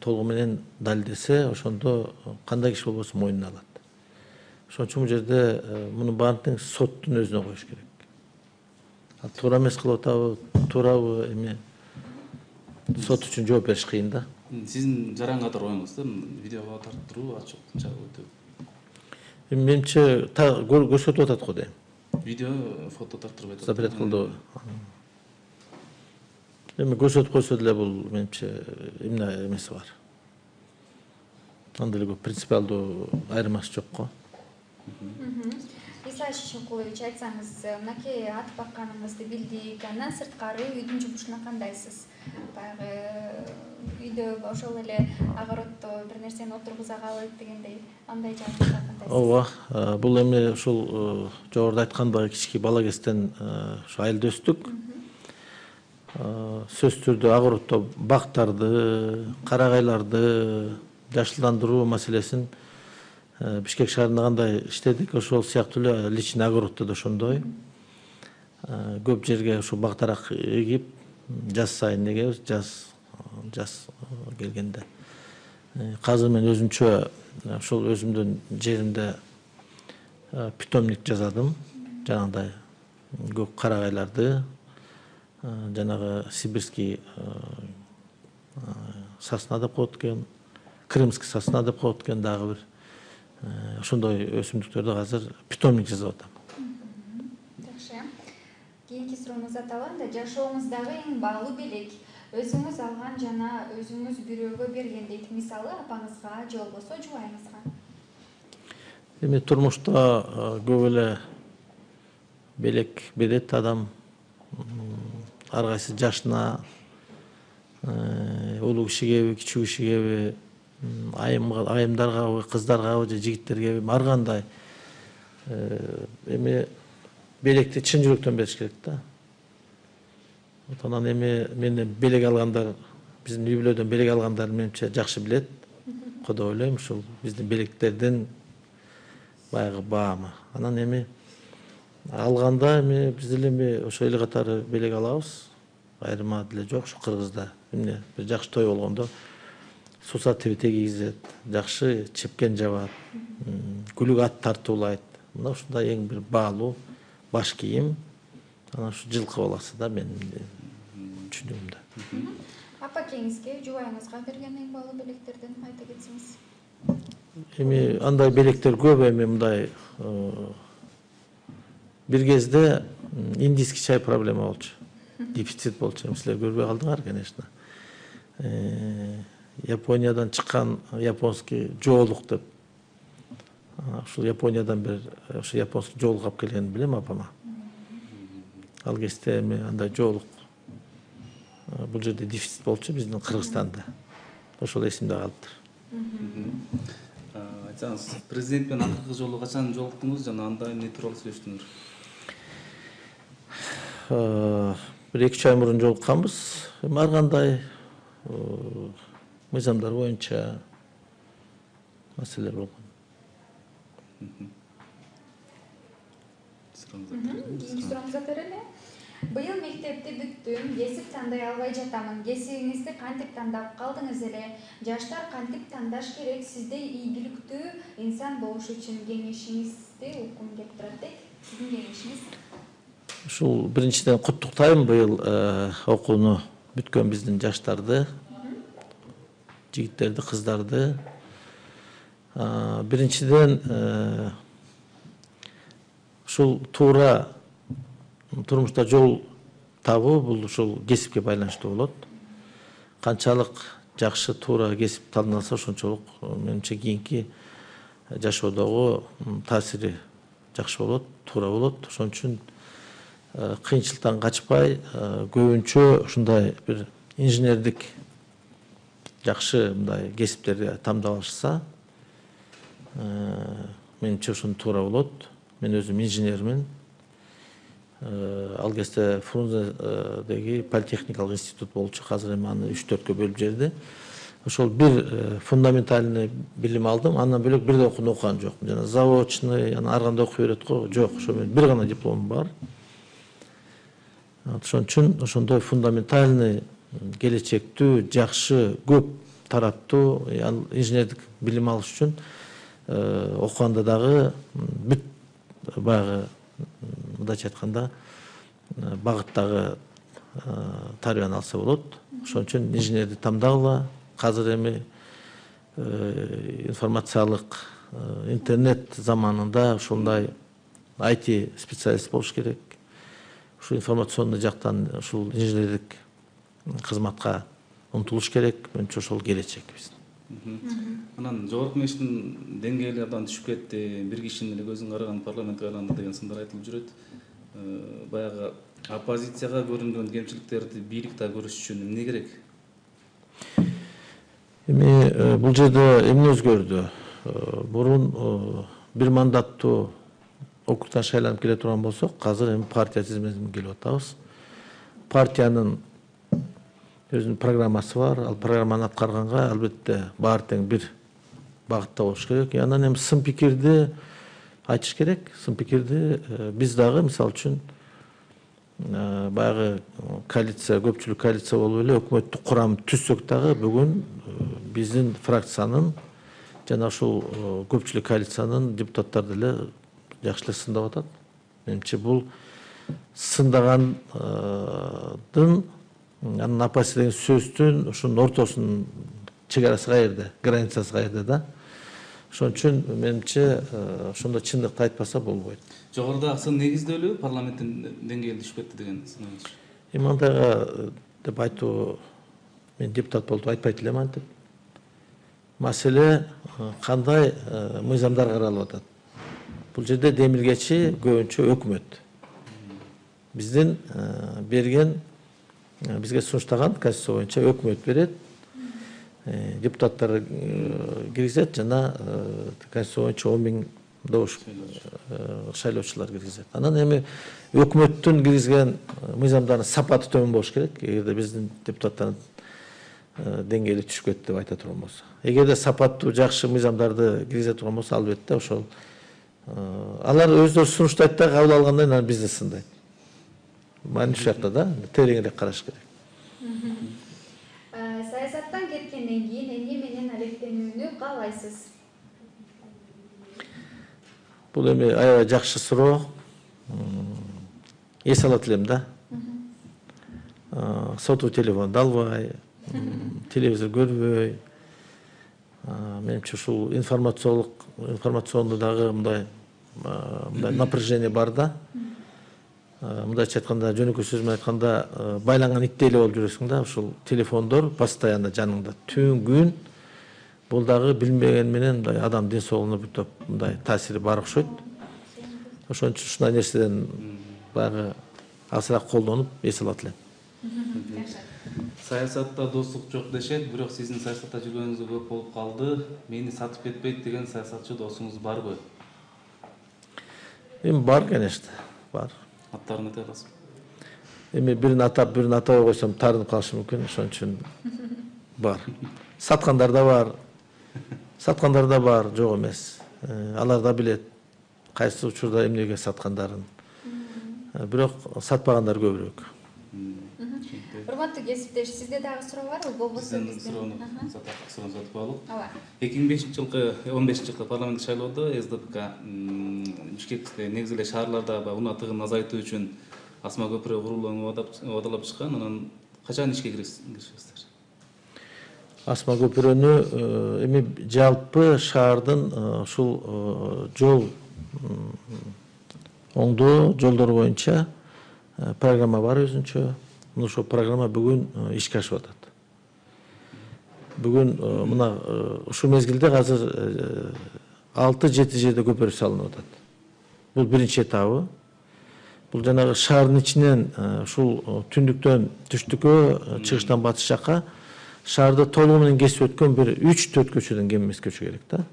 толугу менен далилдесе, ошондо кандай киши болбосо мойнуна алат. Ошон үчүн бул жерде мунун баарын тең соттун өзүнө коюш керек. Туура эмес кылып атабы, туурабы эми сот үчүн жооп бериш кыйын да. Сиздин жаран катар оюңуз да, видеого тарттыруу ачык өтө. Эми менимче көрсөтүп атат го дейм. Видео, фото тартырбай атат. Запрет кылды. Эми көрсөтүп койсо деле бул менимче эмне эмеси бар. Андай эле көп принципиалдуу айырмасы жок го. Исай Шишинкулович, айтсаңыз, мынакей ат бакканыңызды билдик, андан сырткары үйдүн жумушуна кандайсыз? Баягы үйдө ошол эле огороддо бир нерсени отургуза калып дегендей, андай жагында кандайсыз? Ооба, бул эми ушул жогоруда айткандай кички бала кезден ушу айылда өстүк. Сөзсүз түрдө огороддо бактарды, карагайларды жашылдандыруу маселесин Бишкек шаарында кандай иштедик, ошол сыяктуу эле личный огороддо да ошондой. Көп жерге ушу бактарак эгип, жаз сайын эгебиз, жаз келгенде. Азыр мен өзүмчө ошол өзүмдүн жеримде питомник жасадым. Жанагындай көк карагайларды, жанагы сибирский сосна деп коет экен, крымский сосна деп коет экен, дагы бир ошондой өсүмдүктөрдү азыр питомник жасап атам. Жакшы. Кийинки сурооңузду аталам да, жашооңуздагы эң баалуу белек өзүңүз алган жана өзүңүз бирөөгө берген дейт. Мисалы, апаңызга же болбосо жубайыңызга. Эми турмушта көп эле белек берет адам. Ар кайсы жашына, улуу кишигеби, кичүү кишигеби, айымдаргабы, кыздаргабы же жигиттергеби, ар кандай эми белекти чын жүрөктөн бериш керек да. Анан эми менден белек алгандар, биздин үй бүлөдөн белек алгандар менимче жакшы билет. Кодо ойлойм, ушул биздин белектердин баягы баамы. Анан эми алганда эми биз деле эми ошо эле катары белек алабыз. Айырма деле жок, ушу Кыргызда эмне бир жакшы той болгондо суса тебете кийгизет, жакшы чепкен жабат, күлүк ат тартуулайт. Мына ушундай эң бир баалуу баш кийим. Анан ушу жылкы баласы да менин түшүнүгүмдө. Апакеңизге, жубайыңызга берген эң баалуу белектерден айта кетсеңиз. Эми андай белектер көп, эми мындай бир кезде индийский чай проблема болчу. Дефицит болчу. Силер көрбөй калдыңар, конечно. Япониядан чыккан японский жоолук деп. Ушул Япониядан бир ошо японский жоолук алып келгенин билем апама. Ал кезде эми андай жоолук бул жерде дефицит болчу биздин Кыргызстанда. Ошол эсимде калыптыр. Айтсаңыз, президент менен акыркы жолу качан жолуктуңуз жана анда эмне тууралуу сүйлөштүңүз? Бир 2 ай мурун жолукканбыз. Ар кандай мыйзамдар боюнча маселелер болгон. Кийинки сурооңузга берели. Быйыл мектепти бүттүм, кесип тандай албай жатамын. Кесибиңизди кантип тандап калдыңыз эле? Жаштар кантип тандаш керек? Сиздей ийгиликтүү инсан болуш үчүн кеңешиңизди уккум келип турат дейт. Сиздин кеңешиңиз? Ушул биринчиден куттуктайм быйыл окууну бүткөн биздин жаштарды, жигиттерди, кыздарды. Биринчиден ушул туура турмушта жол табуу бул ушул кесипке байланыштуу болот. Канчалык жакшы туура кесип танылса, ошончолук менимче кийинки жашоодогу таасири жакшы болот, туура болот. Ошон үчүн кыйынчылыктан качпай, көбүнчө ушундай бир инженердик жакшы мындай кесиптерди тандап алышса, менимче ушуну туура болот. Мен өзүм инженермин. Ал кезде Фрунзедеги политехникалык институт болчу, азыр эми аны 3-4кө бөлүп жиберди. Ошол бир фундаментальный билим алдым, андан бөлөк бир да окууну окуган жокмун. Жана заочный, ар кандай окуй берет го, жок. Ошо менен бир гана дипломум бар. Ошон үчүн ошондой фундаментальный, келечектүү, жакшы, көп тараптуу инженердик билим алыш үчүн окуганда дагы бүт баягы мындайча айтканда багыттагы тарбияны алса болот. Ошон үчүн инженерди тандагыла. Азыр эми информациялык интернет заманында ушундай IT специалист болуш керек. Ушу информационный жактан ушул инженердик кызматка умтулуш керек. Менимче ошол келечек биздин. Анан жогорку мектептин деңгээли абдан түшүп кетти, бир кишинин эле көзүн караган парламентке айланды деген сындар айтылып жүрөт. Баягы оппозицияга көрүнгөн кемчиликтерди бийлик да көрүш үчүн эмне керек? Эми бул жерде эмне өзгөрдү? Бурун бир мандаттуу округтан шайланып келе турган болсок, азыр эми партия тизмесине келип атабыз. Партиянын өзүнүн программасы бар. Ал программаны аткарганга албетте баары тең бир багытта болуш керек. Анан эми сын пикирди айтыш керек. Сын пикирди биз дагы мисалы үчүн баягы коалиция, көпчүлүк коалиция болуп эле өкмөттүк курам түзсөк дагы бүгүн биздин фракциянын жана ушул көпчүлүк коалициянын депутаттары деле жакшы эле сындап атат. Менимче бул сындагандын анын апасы деген сөздүн ушунун ортосунун чегарасы каерде, границасы каерде да. Ошон үчүн менимче ошондо чындыкты айтпаса болбойт. Жогоруда сын негизделүү парламенттин деңгээли түшүп кетти деген сынак. Эми андайга деп айтуу, мен депутат болуп айтпайт элем антип. Маселе кандай мыйзамдар каралып атат. Бул жерде демилгечи көбүнчө өкмөт. Биздин берген, бизге сунуштаган конституция боюнча өкмөт берет, депутаттар киргизет жана конституция боюнча 10.000 добуш шайлоочулар киргизет. Анан эми өкмөттүн киргизген мыйзамдардын сапаты төмөн болуш керек, эгерде биздин депутаттардын деңгээли түшүп кетти деп айта турган болсо. Эгерде сапаттуу жакшы мыйзамдарды киргизе турган болсо, албетте ошол алар өздөрү сунуштайт да кабыл алгандан кийин бизди сындайт. Мани ушул жакта да тереңирээк караш керек. Саясаттан кеткенден кийин эмне менен алектенүүнү каалайсыз? Бул эми аябай жакшы суроо. Эс алат элем да. Сотовый телефонду албай, телевизор көрбөй. Менимче ушул информационный дагы мындай напряжение бар да. Мындайча айтканда, жөнөкөй сөз менен айтканда, байланган иттей эле болуп жүрөсүң да. Ушул телефондор постоянно жаныңда, түн күн. Бул дагы билмеген менен мындай адам ден соолугуна бүтөп мындай таасири бар окшойт. Ошон үчүн ушундай нерседен баягы азыраак колдонуп эс алат элем. Саясатта достук жок дешет, бирок сиздин саясатта жүргөнүңүз көп болуп калды. Мени сатып кетпейт деген саясатчы досуңуз барбы? Эми бар, конечно, бар. Аттарын айта аласызбы? Эми бирин атап, бирин атабай койсом таарынып калышы мүмкүн, ошон үчүн бар. Саткандар да бар, жок эмес. Алар да билет кайсы учурда эмнеге саткандарын. Бирок сатпагандар көбүрөөк. Урматтуу кесиптеш, сизде дагы суроо барбы? Болбосо биздин суроону сатып алып. Ооба. 2015-жылкы парламенттик шайлоодо СДПК Бишкекте негизи эле шаарларда унаа тыгынын азайтуу үчүн асма көпүрө курулууну убадалап чыккан. Анан качан ишке киришесиздер? Асма көпүрөнү эми жалпы шаардын ушул жол оңдоо жолдор боюнча программа бар өзүнчө. Ошол программа бүгүн ишке ашып атат. Бүгүн мына ушул мезгилде азыр 6-7 жерде көпүрө салынып атат. Бул биринчи этабы. Бул жанагы шаардын ичинен ушул түндүктөн түштүккө, чыгыштан батыш жакка шаарды толугу менен кесип өткөн бир 3-4 көчөдөн кем эмес көчө керек да.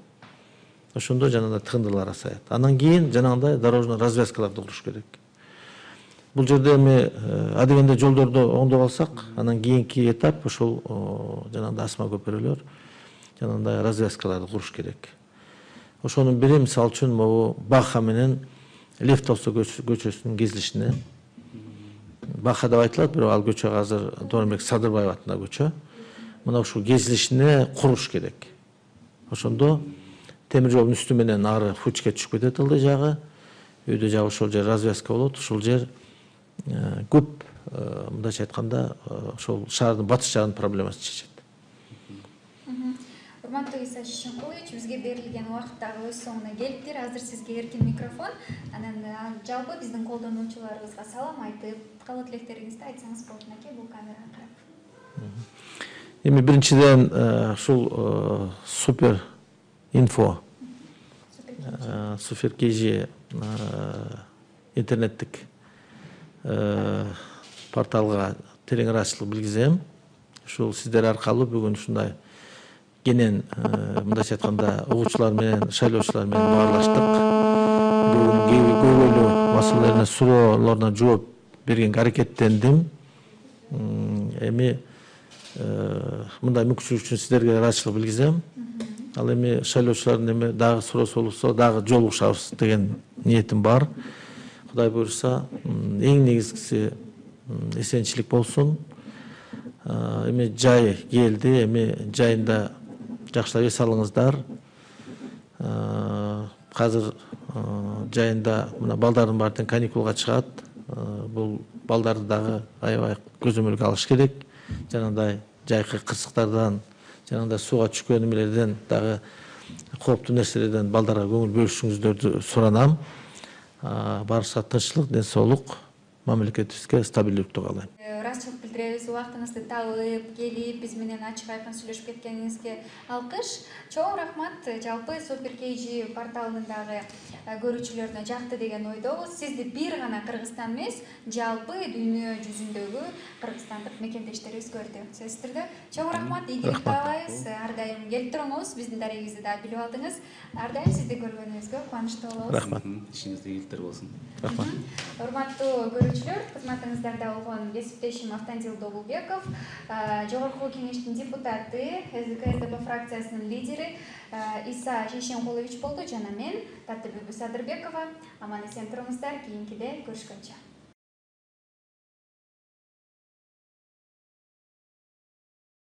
ошондо жанагындай тыгындылар азаят. Анан кийин жанагындай дорожный развязкаларды куруш керек. Бул жерде эми адегенде жолдорду оңдоп алсак, анан кийинки этап ошол жанагындай асма көпөрөлөр, жанагындай развязкаларды куруш керек. Ошонун бири мисалы үчүн могу Баха менен Лев Толстой көчөсүнүн кезилишине. Баха деп айтылат, бирок ал көчө азыр Дооронбек Садырбаев атындагы көчө. Мына ушул кезилишине куруш керек. Ошондо темир жолдун үстү менен ары Фучке түшүп кетет ылдый жагы. Өйдө жагы ошол жер развязка болот. Ушул жер көп мындайча айтканда ошол шаардын батыш жагынын проблемасын чечет. Урматтуу Иса Шишинкулович, бизге берилген убакыт дагы өз соңуна келиптир. Азыр сизге эркин микрофон. Анан жалпы биздин колдонуучуларыбызга салам айтып, каалоо тилектериңизди айтсаңыз болот экен бул камерага карап. Эми биринчиден ушул супер инфо, супер KG интернеттик порталга терең ыраазычылык билгизем. Ушул сиздер аркылуу бүгүн ушундай кенен мындайча айтканда угуучулар менен шайлоочулар менен баарлаштык. Бүгүн көйгөйлүү маселелерине суроолоруна жооп бергенге аракеттендим. Эми мындай мүмкүнчүлүк үчүн сиздерге ыраазычылык билгизем. Ал эми шайлоочулардын эми дагы суроосу болсо дагы жолугушабыз деген ниетим бар. Кудай буюрса, эң негизгиси эсенчилик болсун. Эми жай келди, эми жайында жакшылап эс алыңыздар. Азыр жайында мына балдардын баары тең каникулга чыгат. Бул балдарды дагы аябай көзөмөлгө алыш керек. Жанагындай жайкы кырсыктардан, жанагындай сууга түшкөн эмелерден, дагы кооптуу нерселерден балдарга көңүл бөлүшүңүздөрдү суранам. Барса тынччылык, ден соолук, мамлекетибизге стабилдүүлүктү каалайм. Ыраазычылык билдиребиз, убактыңызды табып, келип, биз менен ачык айкын сүйлөшүп кеткениңизге алкыш. Чоң рахмат. Жалпы Супер KG порталынын дагы көрүүчүлөрүнө жакты деген ойдобуз. Сизди бир гана Кыргызстан эмес, жалпы дүйнө жүзүндөгү кыргызстандык мекендештерибиз көрдү. Сөзсүздөрдө чоң рахмат, ийгилик каалайбыз. Ар дайым келип туруңуз, биздин дарегибизди да билип алдыңыз. Ар дайым сизди көргөнүбүзгө кубанычтуу болобуз. Рахмат. Ишиңизде ийгиликтер болсун. Рахмат. Урматтуу көрүүчүлөр, кызматыңыздарда болгон кесиптешим Автандил Добулбеков, Жогорку Кеңештин депутаты, СДК фракциясынын лидери Иса Шишинкулович болду жана мен Татыбүбү Садырбекова. Аман эсен туруңуздар, кийинкиде көрүшкөнчө.